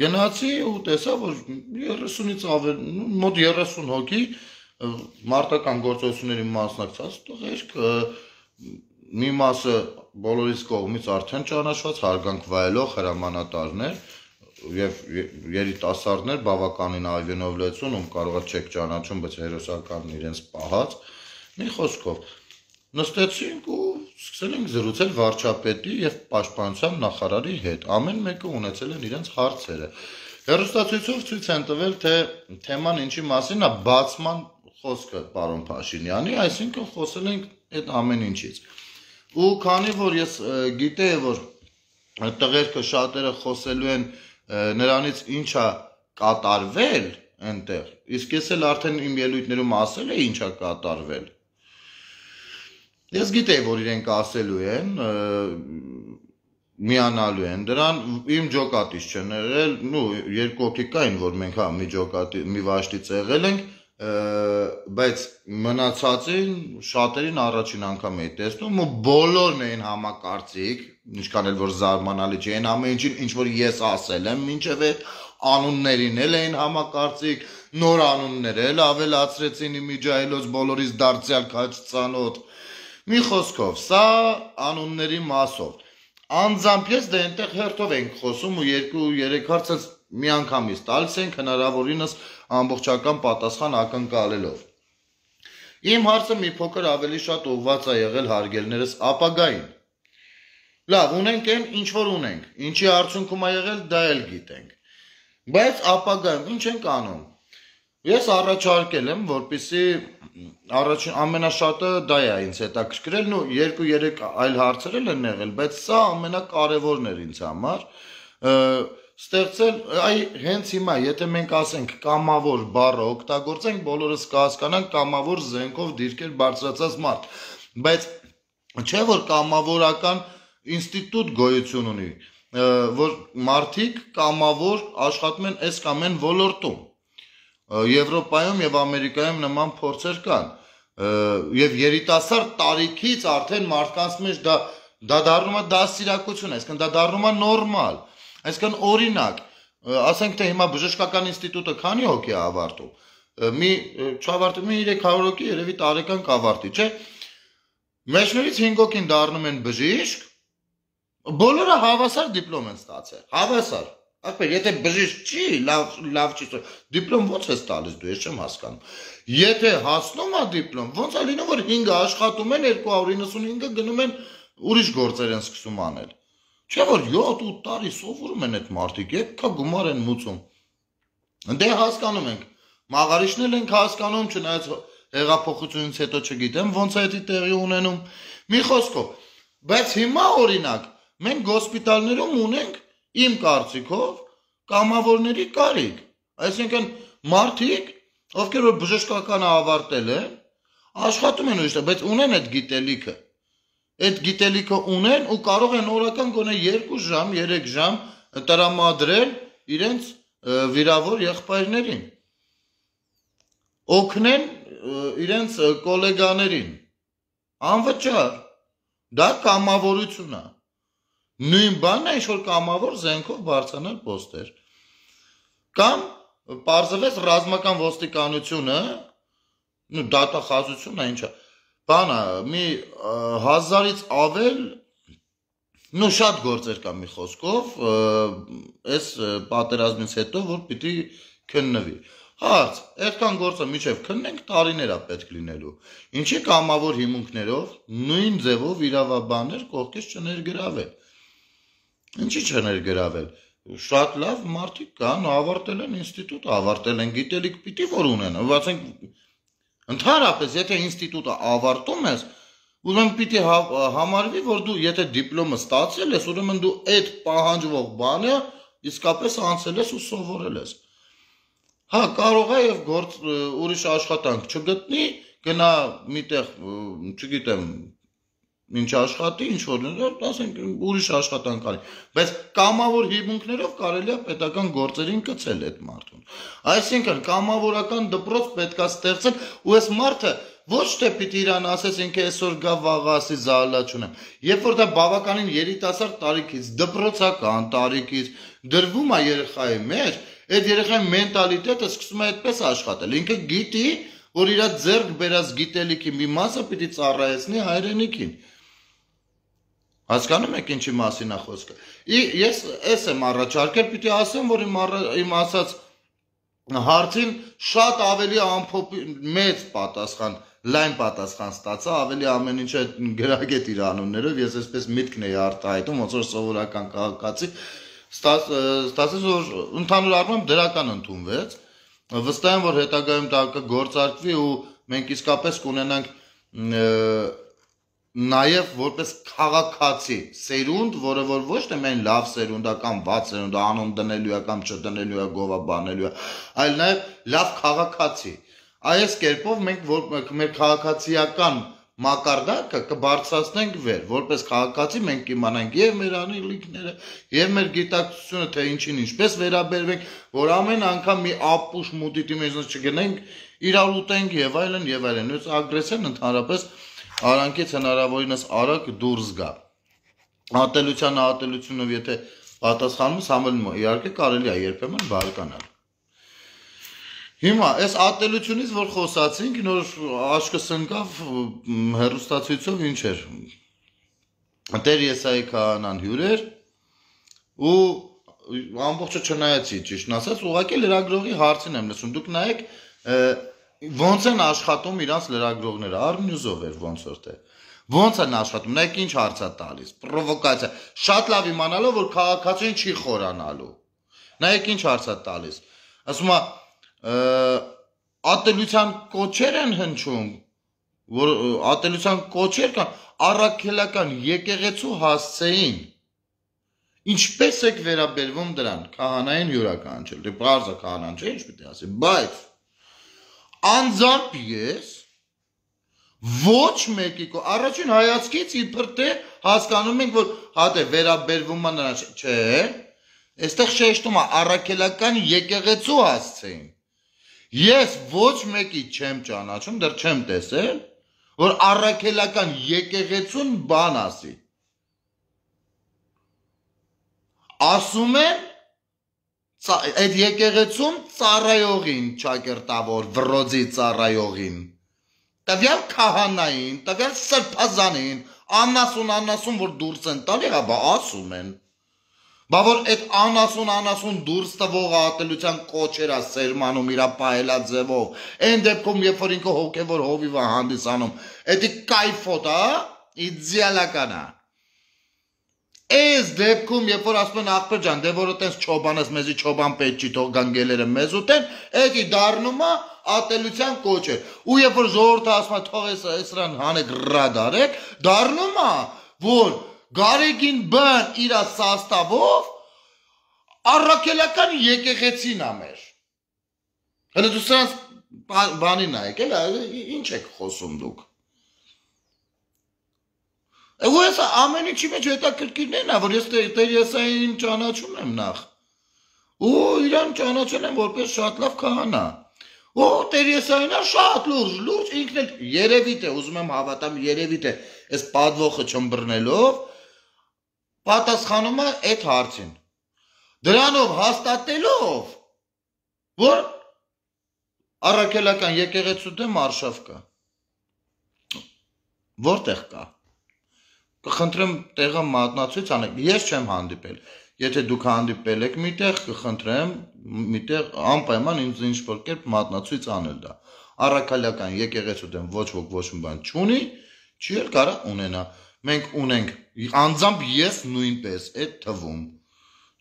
գնացի ու տեսա, որ երեսունից ավել, մոտ երեսուն հոգի մարտական գործողությունների մասնակցած տղերք, մի մասը բոլորիս կողմից արդեն ճանաչված հարգանք վայելող հրամանատարներ եւ երիտասարդներ բավականին այվենով լեցուն, ում կարող է չեք ճանաչում, բայց հերոսականն իրենց պահած, մի խոսքով նստեցինք ու սկսել ենք զրուցել վարչապետի եւ պաշտպանության նախարարի հետ, ամեն մեկը ունեցել են իրենց հարցերը։ Հեռուստացույցով ցույց են տվել, թե թեման ինչի մասին է, բացման խոսքը պարոն Փաշինյանի, այսինքն խոսել ենք այդ ամեն ինչից։ Ու քանի որ ես գիտեի, որ տղերքը շատերը խոսելու են նրանից ինչա կատարվել այնտեղ, իսկ ես էլ արդեն իմ ելույթներում ասել էի ինչա կատարվել։ Ես գիտեի, որ իրենք ասելու են, միանալու են դրան, իմ ջոկատից չեն եղել, նու երկու հոգի կային, որ մենք հա մի ջոկատի, մի վաշտից եղել ենք, բայց մնացածին շատերին առաջին անգամ էի տեսնում ու բոլորն էին համակարծիք, ինչքան էլ որ զարմանալի չէ, այն ամեն ինչին ինչ որ ես ասել եմ, մինչև այդ անուններին էլ էին համակարծիք, նոր անուններ էլ ավելացրեցին իմիջայլոց բոլորից դարձյալ քաջ ծանոթ։ Մի խոսքով, սա անունների մասով։ Անձամբ ես դե այնտեղ հերթով ենք խոսում ու երկու երեք հարց մի անգամից տալիս ենք հնարավորինս ամբողջական պատասխան ակնկալելով։ Իմ հարցը մի փոքր ավելի շատ ուղղված է եղել հարգելներս ապագային։ Լավ, ունենք այն, ինչ որ ունենք, ինչի արդյունքում է եղել, դա էլ գիտենք։ Բայց ապագայում ինչ ենք անում։ Ես առաջարկել եմ, որպեսզի առաջին ամենաշատը դա է ինձ հետաքրքրել, ու երկու երեք այլ հարցեր են եղել, բայց սա ամենակարևորն էր ինձ համար։ Ստեղծել, այ հենց հիմա, եթե մենք ասենք կամավոր բառը օգտագործենք, բոլորս կհասկանանք կամավոր զենքով դիրքեր բարձրացած մարդ, բայց չէ որ կամավորական ինստիտուտ գոյություն ունի, որ մարդիկ կամավոր աշխատում են այս կամ այն ոլորտում, Եվրոպայում եւ Ամերիկայում նման փորձեր կան, եւ երիտասարդ տարիքից արդեն մարդկանց մեջ դա դա դառնում է դասիրակություն, այսինքն դա դառնում է նորմալ, այսինքն օրինակ, ասենք թե հիմա բժշկական ինստիտուտը քանի հոգի է ավարտում, մի չավարտում մի երեք հարյուր հոգի երևի տարեկան կավարտի, չէ՞։ Մեջներից հինգ հոգին դառնում են բժիշկ, բոլորը հավասար դիպլոմ են ստացել, հավասար։ Ախպեր, եթե բժիշկ չի, լավ լավ չի, դիպլոմ ո՞նց ես տալիս դու, ես չեմ հասկանում։ Եթե հասնում է դիպլոմ, ո՞նց է լինում, որ հինգը աշխատում են, երկու հարյուր իննսունհինգը գնում են ուրիշ գործեր են սկսում անել։ Չէ՞ որ յոթ ութ տարի սովորում են այդ մարդիկ, եկա գումար են մուծում։ Դե հասկանում ենք։ Մաղարիչն էլ ենք հասկանում, չնայած հեղափոխությունից հետո չգիտեմ ոնց է դա տեղի ունենում։ Մի խոսքով, բայց հիմա օրինակ մենք հոսպիտալներում ունենք իմ կարծիքով կամավորների կարիք, այսինքն մարդիկ, ովքեր որ բժշկականը ավարտել են, աշխատում են ուրիշ, բայց ունեն այդ գիտելիքը, այդ գիտելիքը ունեն ու կարող են օրական գոնե երկու ժամ, երեք ժամ տրամադրել իրենց վիրավոր եղբայրներին, օգնեն իրենց կոլեգաներին, անվճար, դա կամավորություն է։ Նույն բանն է, ինչ որ կամավոր զենքով բարձրանալ պոստեր։ Կամ պարզվեց ռազմական ոստիկանությունը, նու դատախազությունն է, ինչա, բանը, մի հազարից ավել, նու շատ գործեր կա մի խոսքով, այս պատերազմից հետո, որ պիտի քննվի։ Հարց, այդքան գործը միջև քննենք տարիներ է պետք լինելու։ Ինչի կամավոր հիմունքներով, նույն ձևով իրավաբաններ կողքից չներգրավել։ Ինչի չներգրավել։ Շատ լավ մարդիկ կան, ավարտել են ինստիտուտ, ավարտել են գիտելիք, պիտի որ ունեն։ Ասենք ընդհանրապես, եթե ինստիտուտը ավարտում ես, ուրեմն պիտի համարվի, որ դու եթե դիպլոմը ստացել ես, ուրեմն դու այդ պահանջվող բանը իսկապես անցել ես ու սովորել ես։ Հա, կարող է եւ գործ ուրիշ աշխատանք չգտնի, գնա միտեղ, չգիտեմ, ինչ աշխատի, ինչ որ, ասենք ուրիշ աշխատանք արի, բայց կամավոր հիմունքներով կարելի է պետական գործերին կցել այդ մարդուն։ Այսինքն կամավորական դպրոց պետքա ստեղծել ու այս մարդը ոչ թե պիտի իրան ասես ինքը այսօր գա վաղ ասի զալա չունեմ։ Երբ որ դա բավականին երիտասարդ տարիքից, դպրոցական տարիքից դրվում է երեխայի մեջ, այդ երեխայի մենտալիտետը սկսում է այդպես աշխատել։ Ինքը գիտի, որ իր ձեռք բերած գիտելիքի մի մասը պիտի ծառայեցնի հայրենիքին։ Այսինքն, կամավոր հիմունքներով կարելի է պետական գործերին կցել այդ մարդուն։ Այսինքն, կամավորական դպրոց պետքա ստեղծել ու այս մարդը ոչ թե պիտի իրան ասես ինքը այսօր գա վաղ ասի զալա չունեմ։ Երբ որ դա բավականին երիտասարդ տարիքից, դպրոցական տարիքից դրվում է երեխայի մեջ, այդ երեխայի մենտալիտետը սկսում է այդպես աշխատել։ Ինքը գիտի, որ իր ձեռք բերած գիտելիքի մի մասը պիտի ծառայեցնի հայրենիքին։ Հասկանում եք ինչի մասին է խոսքը։ Ես էս եմ առաջարկել, պիտի ասեմ, որ իմ իմ ասած հարցին շատ ավելի ամփոփ մեծ պատասխան, լայն պատասխան ստացա, ավելի ամեն ինչը գրագետ իր անուններով, ես այսպես միտքն էի արտահայտում, ոնց որ սովորական քաղաքացի, ստացեց որ ընդհանուր առմամբ դրական ընդունվեց։ Վստահ եմ, որ հետագայում դա կգործարկվի ու մենք իսկապես կունենանք նաև որպես քաղաքացի սերունդ, որը որ ոչ թե մեն լավ սերունդ է կամ վատ սերունդ է, անուն դնելու է կամ չդնելու է, գովա բանելու է, այլ նաև լավ քաղաքացի։ Այս կերպով մենք որ մեր քաղաքացիական մակարդակը կբարձրացնենք վեր, որպես քաղաքացի մենք կիմանանք եւ մեր անելիքները, եւ մեր գիտակցությունը, թե ինչին ինչպես վերաբերվենք, որ ամեն անգամ մի ապուշ մուտիտի մեջ չգնենք, իրար ուտենք եւ այլն եւ այլն։ Այս ագրեսիան ընդհանրապես արանքից հնարավորինս արագ դուրս գա։ Ատելության ատելությունով եթե պատասխանում ես համելում, իհարկե կարելի է երբեմն բարկանալ։ Հիմա այս ատելությունից որ խոսացինք, նոր աշկս ընկավ հեռուստացույցով ինչ էր։ Տեր Եսայի քահանան հյուր էր ու ամբողջը չնայեցի, ճիշտն ասած, ուղղակի լրագրողի հարցին եմ լսում։ Դուք նայեք ոնց են աշխատում իրանց լրագրողները, Արմյուզով էր ոնց որ թե։ Ոնց են աշխատում, նայեք ինչ հարց է տալիս, պրովոկացիա, շատ լավ իմանալով, որ քաղաքացին չի խորանալու։ Նայեք ինչ հարց է տալիս։ Ասում է ատելության կոչեր են հնչում, որ ատելության կոչեր կան, առաքելական եկեղեցու հասցեին։ Ինչպես եք վերաբերվում դրան, քահանային յուրաքանչյուր, դե բարձր քահանան չէ, ինչ պիտի ասի, բայց անձամբ ես ոչ մեկի առաջին հայացքից իբր թե հասկանում ենք, որ հատե վերաբերվում է նրան, չէ, այստեղ շեշտում է առաքելական եկեղեցու հասցեին։ Ես ոչ մեկի չեմ ճանաչում, դեռ չեմ տեսել, որ առաքելական եկեղեցուն բան ասի։ Ասում են այդ եկեղեցում ծառայողին ճակերտավոր վրոձի ծառայողին, տվյալ քահանային, տվյալ սրբազանին, անասուն անասուն որ դուրս են տալի, հա ասում են։ Բա որ այդ անասուն անասուն դուրս տվող ատելության կոչերա սերմանում իրա պահելա ձևով, այն դեպքում երբ որ ինքը հոգևոր հովիվ է հանդիսանում, էդի կայֆոտ է, իդեալական է։ Այս դեպքում երբ որ ասում են ախպեր ջան, դե որ այտենց չոբանես մեզի չոբան պետք չի թող գանգելերը մեզ ուտեն, էդի դառնում է ատելության կոչեր։ Ու երբ որ ժողովուրդը ասում է թող այս սրան հանեք ռադարեք, դառնում է, որ Գարեգին բան իրա սաստավով առաքելական եկեղեցին է մեր։ Հələ դու սրանց բանի նայեք, ինչ եք խոսում դուք։ Ու ես ամեն ինչի մեջ հետաքրքիրն է, որ ես Տեր Եսային ճանաչում եմ նախ։ Ու իրան ճանաչել եմ որպես շատ լավ քահանա։ Ու Տեր Եսայինը շատ լուրջ, լուրջ ինքն էլ երևի թե, ուզում եմ հավատամ, երևի թե այս պատվոխը չմբռնելով պատասխանում է այդ հարցին։ Դրանով հաստատելով, որ առաքելական եկեղեցու դեմ արշավ կա։ Որտեղ կա։ Կխնդրեմ տեղը մատնացույց անեք։ Ես չեմ հանդիպել։ Եթե դուք հանդիպել եք միտեղ, կխնդրեմ միտեղ անպայման ինձ ինչ-որ կերպ մատնացույց անել դա։ Առաքելական եկեղեցու դեմ ոչ ոք ոչ մի բան չունի, չի էլ կարա ունենա։ Մենք ունենք անձամբ ես նույնպես այդ թվում։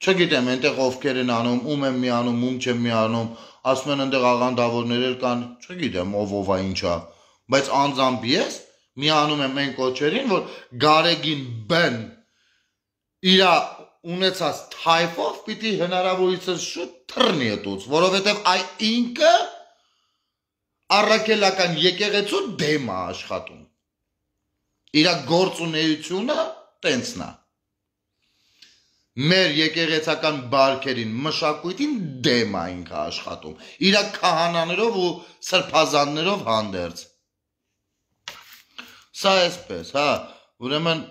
Չգիտեմ, այնտեղ ովքեր են անում, ում եմ միանում, ում չեմ միանում, ասում են այնտեղ աղանդավորներ էլ կան, չգիտեմ, ով ով է ինչա, բայց անձամբ ես միանում եմ այն կոչերին, որ Գարեգին բեն իր ունեցած թայֆով պիտի հնարավորինս շուտ թռնի այդուց, որովհետև այ ինքը առաքելական եկեղեցու դեմ է աշխատում։ Իրա գործունեությունը տենցն է։ Մեր եկեղեցական բարքերին, մշակույթին դեմ է ինքը աշխատում։ Իրա քահանաներով ու սրբազաններով հանդերձ։ Սա էսպես, հա, ուրեմն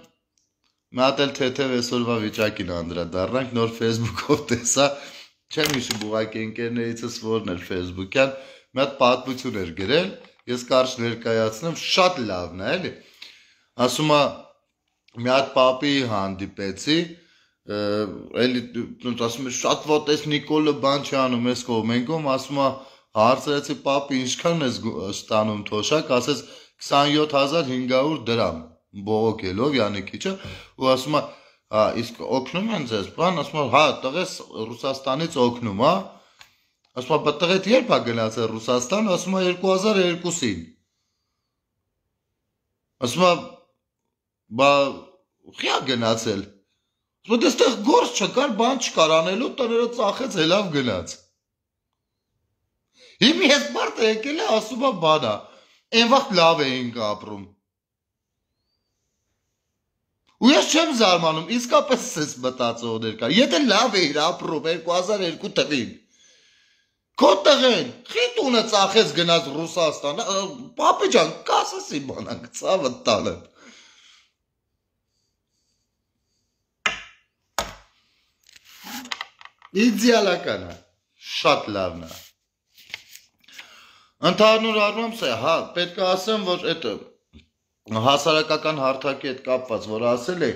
մի հատ էլ թեթև այսօրվա վիճակին անդրադառնանք, նոր Facebook-ով տեսա, չեմ հիշում ուղղակի ընկերներիցս որն էր Facebook-յան, մի հատ պատմություն էր գրել, ես կարճ ներկայացնեմ, շատ լավն է, էլի։ Ասում է մի հատ պապի հանդիպեցի, էլի ասում է շատ ոտես Նիկոլը բան չի անում էս կողմենքում, ասում է հարցրեցի պապի ինչքան ես ստանում թոշակ, ասեց քսանյոթ հազար հինգ հարյուր դրամ բողոքելով Յանիկիչը ու ասում է հա իսկ օգնում են ձեզ բան ասում է հա տղես Ռուսաստանից օգնում հա ասում է բա տղեդ երբ է գնացել Ռուսաստան ասում է երկու հազար երկուսին ասում է բա խիա գնացել ասում է դեստեղ գործ չկար բան չկար անելու տները ծախեց հելավ գնաց հիմի ես մարդը եկել է ասում է բանա այն վաղ լավ էինք ապրում ու ես չեմ զարմանում իսկապես ես մտածողներ կար եթե լավ էիր ապրում երկու հազար երկու թվին քո տղեն խի տունը ծախեց գնաց Ռուսաստան պապի ջան կասես իմանանք ցավը տանը իդեալական է շատ լավն է ընդհանուր առմամբ սա հա պետք է ասեմ որ այդ հասարակական հարթակի հետ կապված որ ասել է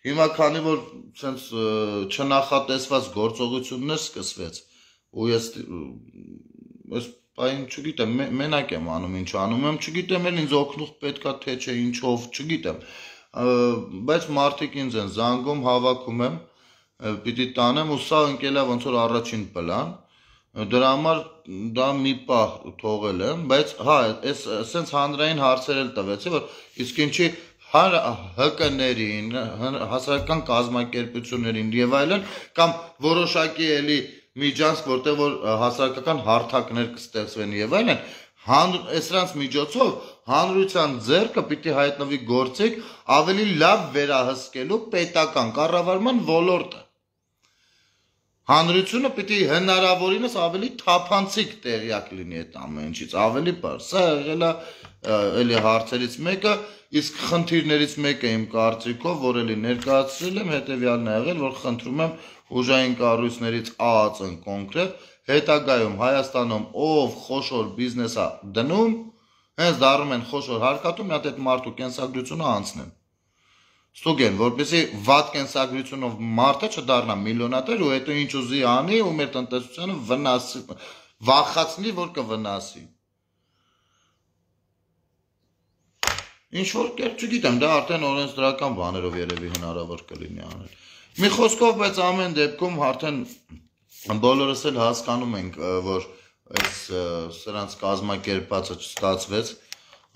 հիմա քանի որ sense չնախատեսված գործողություններ սկսվեց ու ես ես այն չգիտեմ մենակ եմ անում ինչ անում եմ չգիտեմ էլ ինձ օգնող պետքա թե չէ ինչով չգիտեմ բայց մարդիկ ինձ են զանգում հավաքում եմ պիտի տանեմ ու սա ընկել է ոնց որ առաջին պլան դրա համար դա մի պահ թողել եմ բայց հա այս sense հանրային հարցեր էլ տվեցի որ իսկ ինչի ՀԿ-ներին հասարակական կազմակերպություններին եւ այլն կամ որոշակի էլի միջանցք որտեղ որ հասարակական հարթակներ կստեղծվեն եւ այլն սրանց միջոցով հանրության ձեռքը պիտի հայտնվի գործիք ավելի լավ վերահսկելու պետական կառավարման ոլորտը հանրությունը պիտի հնարավորինս ավելի թափանցիկ տեղյակ լինի այդ ամեն ինչից ավելի բարձ սա եղել է էլի հարցերից մեկը իսկ խնդիրներից մեկը իմ կարծիքով որ էլի ներկայացրել եմ հետեւյալն է եղել որ խնդրում եմ ուժային կառույցներից ԱԱԾ-ն կոնկրետ հետագայում Հայաստանում ով խոշոր բիզնես է դնում հենց դառնում են խոշոր հարկատու մի հատ այդ մարդու կենսագրությունը անցնեն ստուգեն որպեսզի վատ կենսագրությունով մարդը չդառնա միլիոնատեր ու հետո ինչ ուզի անի ու մեր տնտեսությանը վնասի վախացնի որ կվնասի ինչ որ կերպ չգիտեմ դա արդեն օրենսդրական բաներով երևի հնարավոր կլինի անել մի խոսքով բայց ամեն դեպքում արդեն բոլորս էլ հասկանում ենք որ այս սրանց կազմակերպածը չստացվեց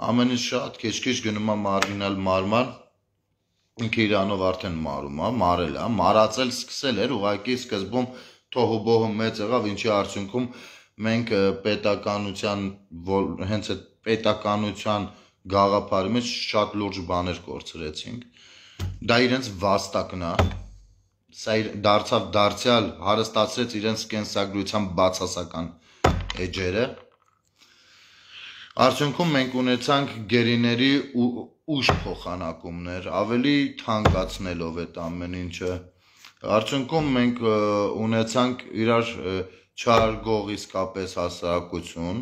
ամեն ինչ շատ քիչ-քիչ գնում է մարգինալ մարման ինքը իրանով արդեն մարում է մարել է մարածել սկսել էր ուղղակի սկզբում թոհուբոհը մեծ եղավ ինչի արդյունքում մենք պետականության հենց այդ պետականության գաղափարի մեջ շատ լուրջ բաներ կորցրեցինք դա իրենց վաստակն է սա դարձավ դարձյալ հարստացրեց իրենց կենսագրության բացասական էջերը արդյունքում մենք ունեցանք գերիների ուժ փոխանակումներ ավելի թանկացնելով այդ ամեն ինչը արդյունքում մենք ունեցանք իրար չարգող իսկապես հասարակություն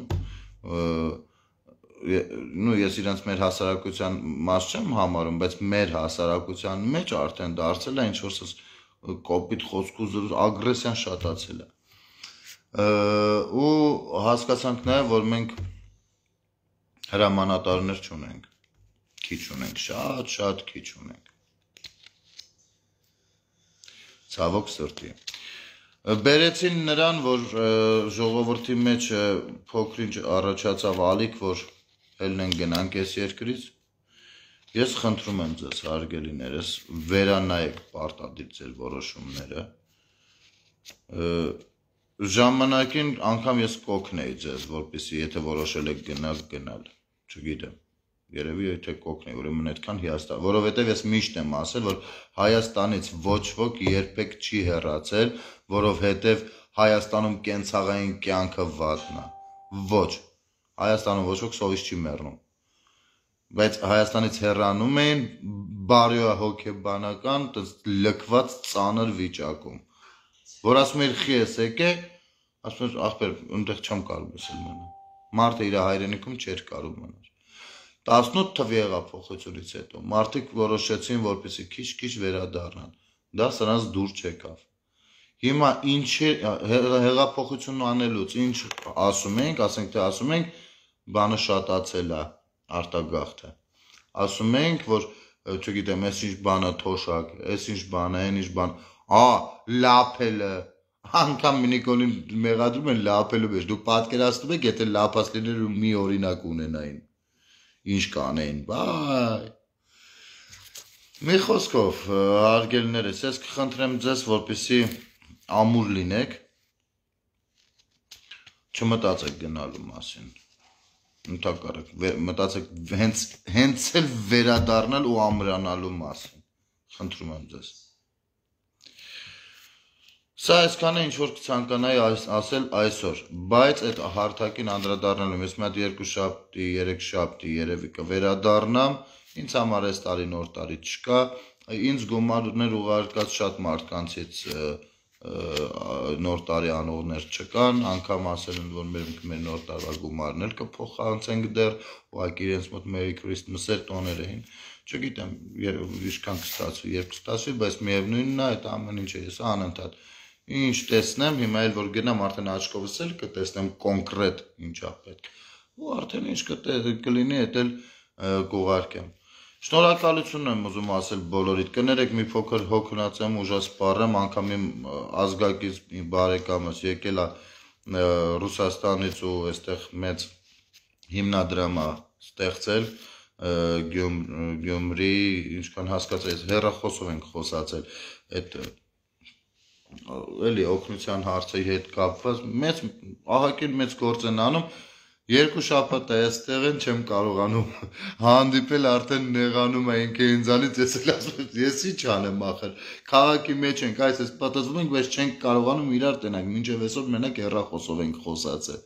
նու ես իրենց մեր հասարակության մաս չեմ համարում բայց մեր հասարակության մեջ արդեն դարձել է ինչ որ կոպիտ խոսք ու ագրեսիան շատացել է ու հասկացանք նաև որ մենք հրամանատարներ չունենք քիչ ունենք շատ շատ քիչ ունենք ցավոք սրտի բերեցին նրան որ ժողովրդի մեջ փոքրինչ առաջացավ ալիք որ ելնեն գնանք այս երկրից ես խնդրում եմ ձեզ հարգելիներս վերանայեք պարտադիր ձեր որոշումները ժամանակին անգամ ես կօգնեի ձեզ որպեսզի եթե որոշել եք գնալ գնալ չգիտեմ երևի եթե կօգնեի ուրեմն այդքան հիասթափ որովհետև ես միշտ եմ ասել որ Հայաստանից ոչ ոք երբեք չի հեռացել որովհետև Հայաստանում կենցաղային կյանքը վատն է ոչ Հայաստանում ոչ ոք սովից չի մեռնում բայց Հայաստանից հեռանում էին բարոյահոգեբանական լքված ծանր վիճակում որ ասում էր խի ես եկե ասում էր ախպեր այնտեղ չեմ կարող մսել մնալ մարդը իր հայրենիքում չէր կարող մնալ տասնութ թվի հեղափոխությունից հետո մարդիկ որոշեցին, որպեսզի քիչ-քիչ վերադառնան։ Դա սրանց դուր չեկավ։ Հիմա ինչ հեղափոխություն անելուց ինչ ասում ենք, ասենք թե ասում ենք, բանը շատացել է արտագաղթը։ Ասում ենք, որ չգիտեմ, այս ինչ բանը թոշակ, այս ինչ բան է, այն ինչ բան, ա, լափելը, անգամ Նիկոլին մեղադրում են լափելու մեջ։ Դուք պատկերացնում եք, եթե լափած լիներ ու մի օրինակ ունենային, ինչ կանեին, բայ։ Մի խոսքով, հարգելիներս, ես կխնդրեմ ձեզ, որպեսզի ամուր լինեք, չմտածեք գնալու մասին։ Ընդհակառակ, մտածեք հենց հենց էլ վերադառնալ ու ամրանալու մասին։ Խնդրում եմ ձեզ։ Սա այսքանը ինչ որ կցանկանայի ասել այսօր, բայց այդ հարթակին անդրադառնալու ես մի հատ երկու շաբթի, երեք շաբթի երևի կվերադառնամ, ինձ համար այս տարի նոր տարի չկա, ինձ գումարներ ուղարկած շատ մարդկանցից նոր տարի անողներ չկան, անգամ ասել են, որ մեր մեր նոր տարվա գումարն էլ կփոխանցենք դեռ, ուղղակի իրենց մոտ Merry Christmas-եր տոներ էին, չգիտեմ, ինչքան կստացվի, երբ կստացվի, բայց միևնույնն է, այդ ամեն ինչը ես անընդհատ ինչ տեսնեմ, հիմա էլ որ գնամ արդեն աչքովս էլ կտեսնեմ կոնկրետ ինչա պետք, ու արդեն ինչ կլինի, այդ էլ կուղարկեմ։ Շնորհակալություն եմ ուզում ասել բոլորիդ, կներեք մի փոքր հոգնած եմ, ուժած սպառեմ, անգամ իմ ազգակից մի բարեկամս եկել է Ռուսաստանից ու այստեղ մեծ հիմնադրամ է ստեղծել Գյումրի, ինչքան հասկացա, ես հեռախոսով ենք խոսացել, այդ էլի օգնության հարցի հետ կապված, մեծ ահագին մեծ գործ են անում, երկու շաբաթ է այստեղ են, չեմ կարողանում հանդիպել, արդեն նեղանում է ինքը ինձանից, ես էլ ասում եմ, ես ինչ անեմ ախր, քաղաքի մեջ ենք, այս էս պատասխանում ենք, բայց չենք կարողանում իրար տենանք, մինչև այսօր մենակ հեռախոսով ենք խոսացել։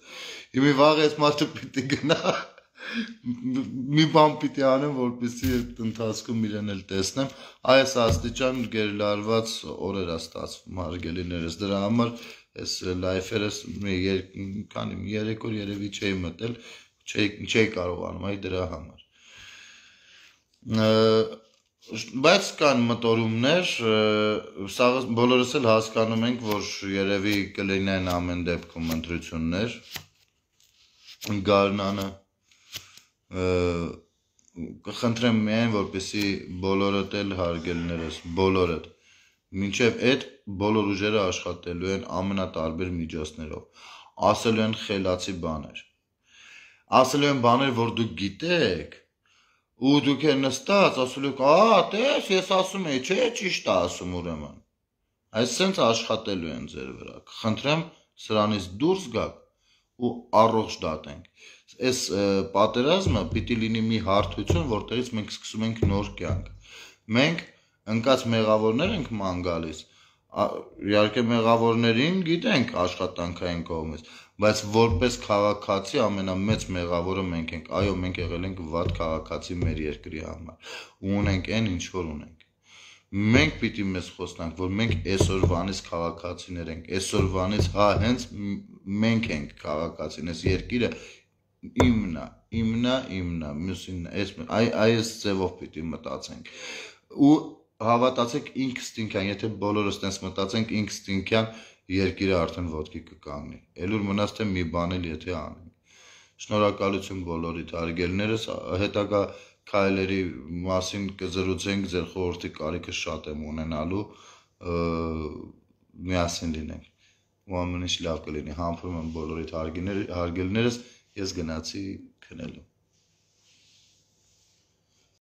Հիմա վաղ այս մարդը պիտի գնա, մի բան պիտի անեմ, որպեսզի այդ ընթացքում իրեն էլ տեսնեմ, այս աստիճան գերլարված օրեր է ստացվում, հարգելիներս, դրա համար այս լայֆերս քանի երեք օր երևի չէի մտել, չէի կարողանում, այ դրա համար։ Բայց կան մտորումներ, բոլորս էլ հասկանում ենք, որ երևի կլինեն ամեն դեպքում ընտրություններ, գարնանը կխնդրեմ միայն, որպեսզի բոլորդ էլ հարգելիներս, բոլորդ, մինչև այդ բոլոր ուժերը աշխատելու են ամենատարբեր միջոցներով, ասելու են խելացի բաներ, ասելու են բաներ, որ դուք գիտեք, ու դուք է նստած, ասելու եք, ա, տես, ես ասում եի, չէ, ճիշտ է ասում ուրեմն, այսպես աշխատելու են ձեր վրա, կխնդրեմ սրանից դուրս գաք ու առողջ դատենք, այս պատերազմը պիտի լինի մի հարթություն, որտեղից մենք սկսում ենք նոր կյանք, մենք ընկած մեղավորներ ենք ման գալիս, իհարկե մեղավորներին գիտենք աշխատանքային կողմից, բայց որպես քաղաքացի ամենամեծ մեղավորը մենք ենք, այո, մենք եղել ենք վատ քաղաքացի մեր երկրի համար, ու ունենք այն ինչ որ ունենք, մենք պիտի մեզ խոսնանք, որ մենք այսօրվանից քաղաքացիներ ենք, այսօրվանից հա հենց մենք ենք քաղաքացին, այս երկիրը իմնա, իմնա, իմնա, մյուսին, այս ձևով պիտի մտածենք, ու հավատացեք ինքստինքյան, եթե բոլորս տենց մտածենք ինքստինքյան երկիրը արդեն ոտքի կկանգնի, էլուր մնաց թե մի բան էլ եթե անենք, շնորհակալություն բոլորիդ հարգելիներս, հետագա քայլերի մասին կզրուցենք, ձեր խորհրդի կարիքը շատ եմ ունենալու, միասին լինենք, ու ամեն ինչ լավ կլինի, համբուրում եմ բոլորիդ հարգելիներս, ես գնացի քնելու։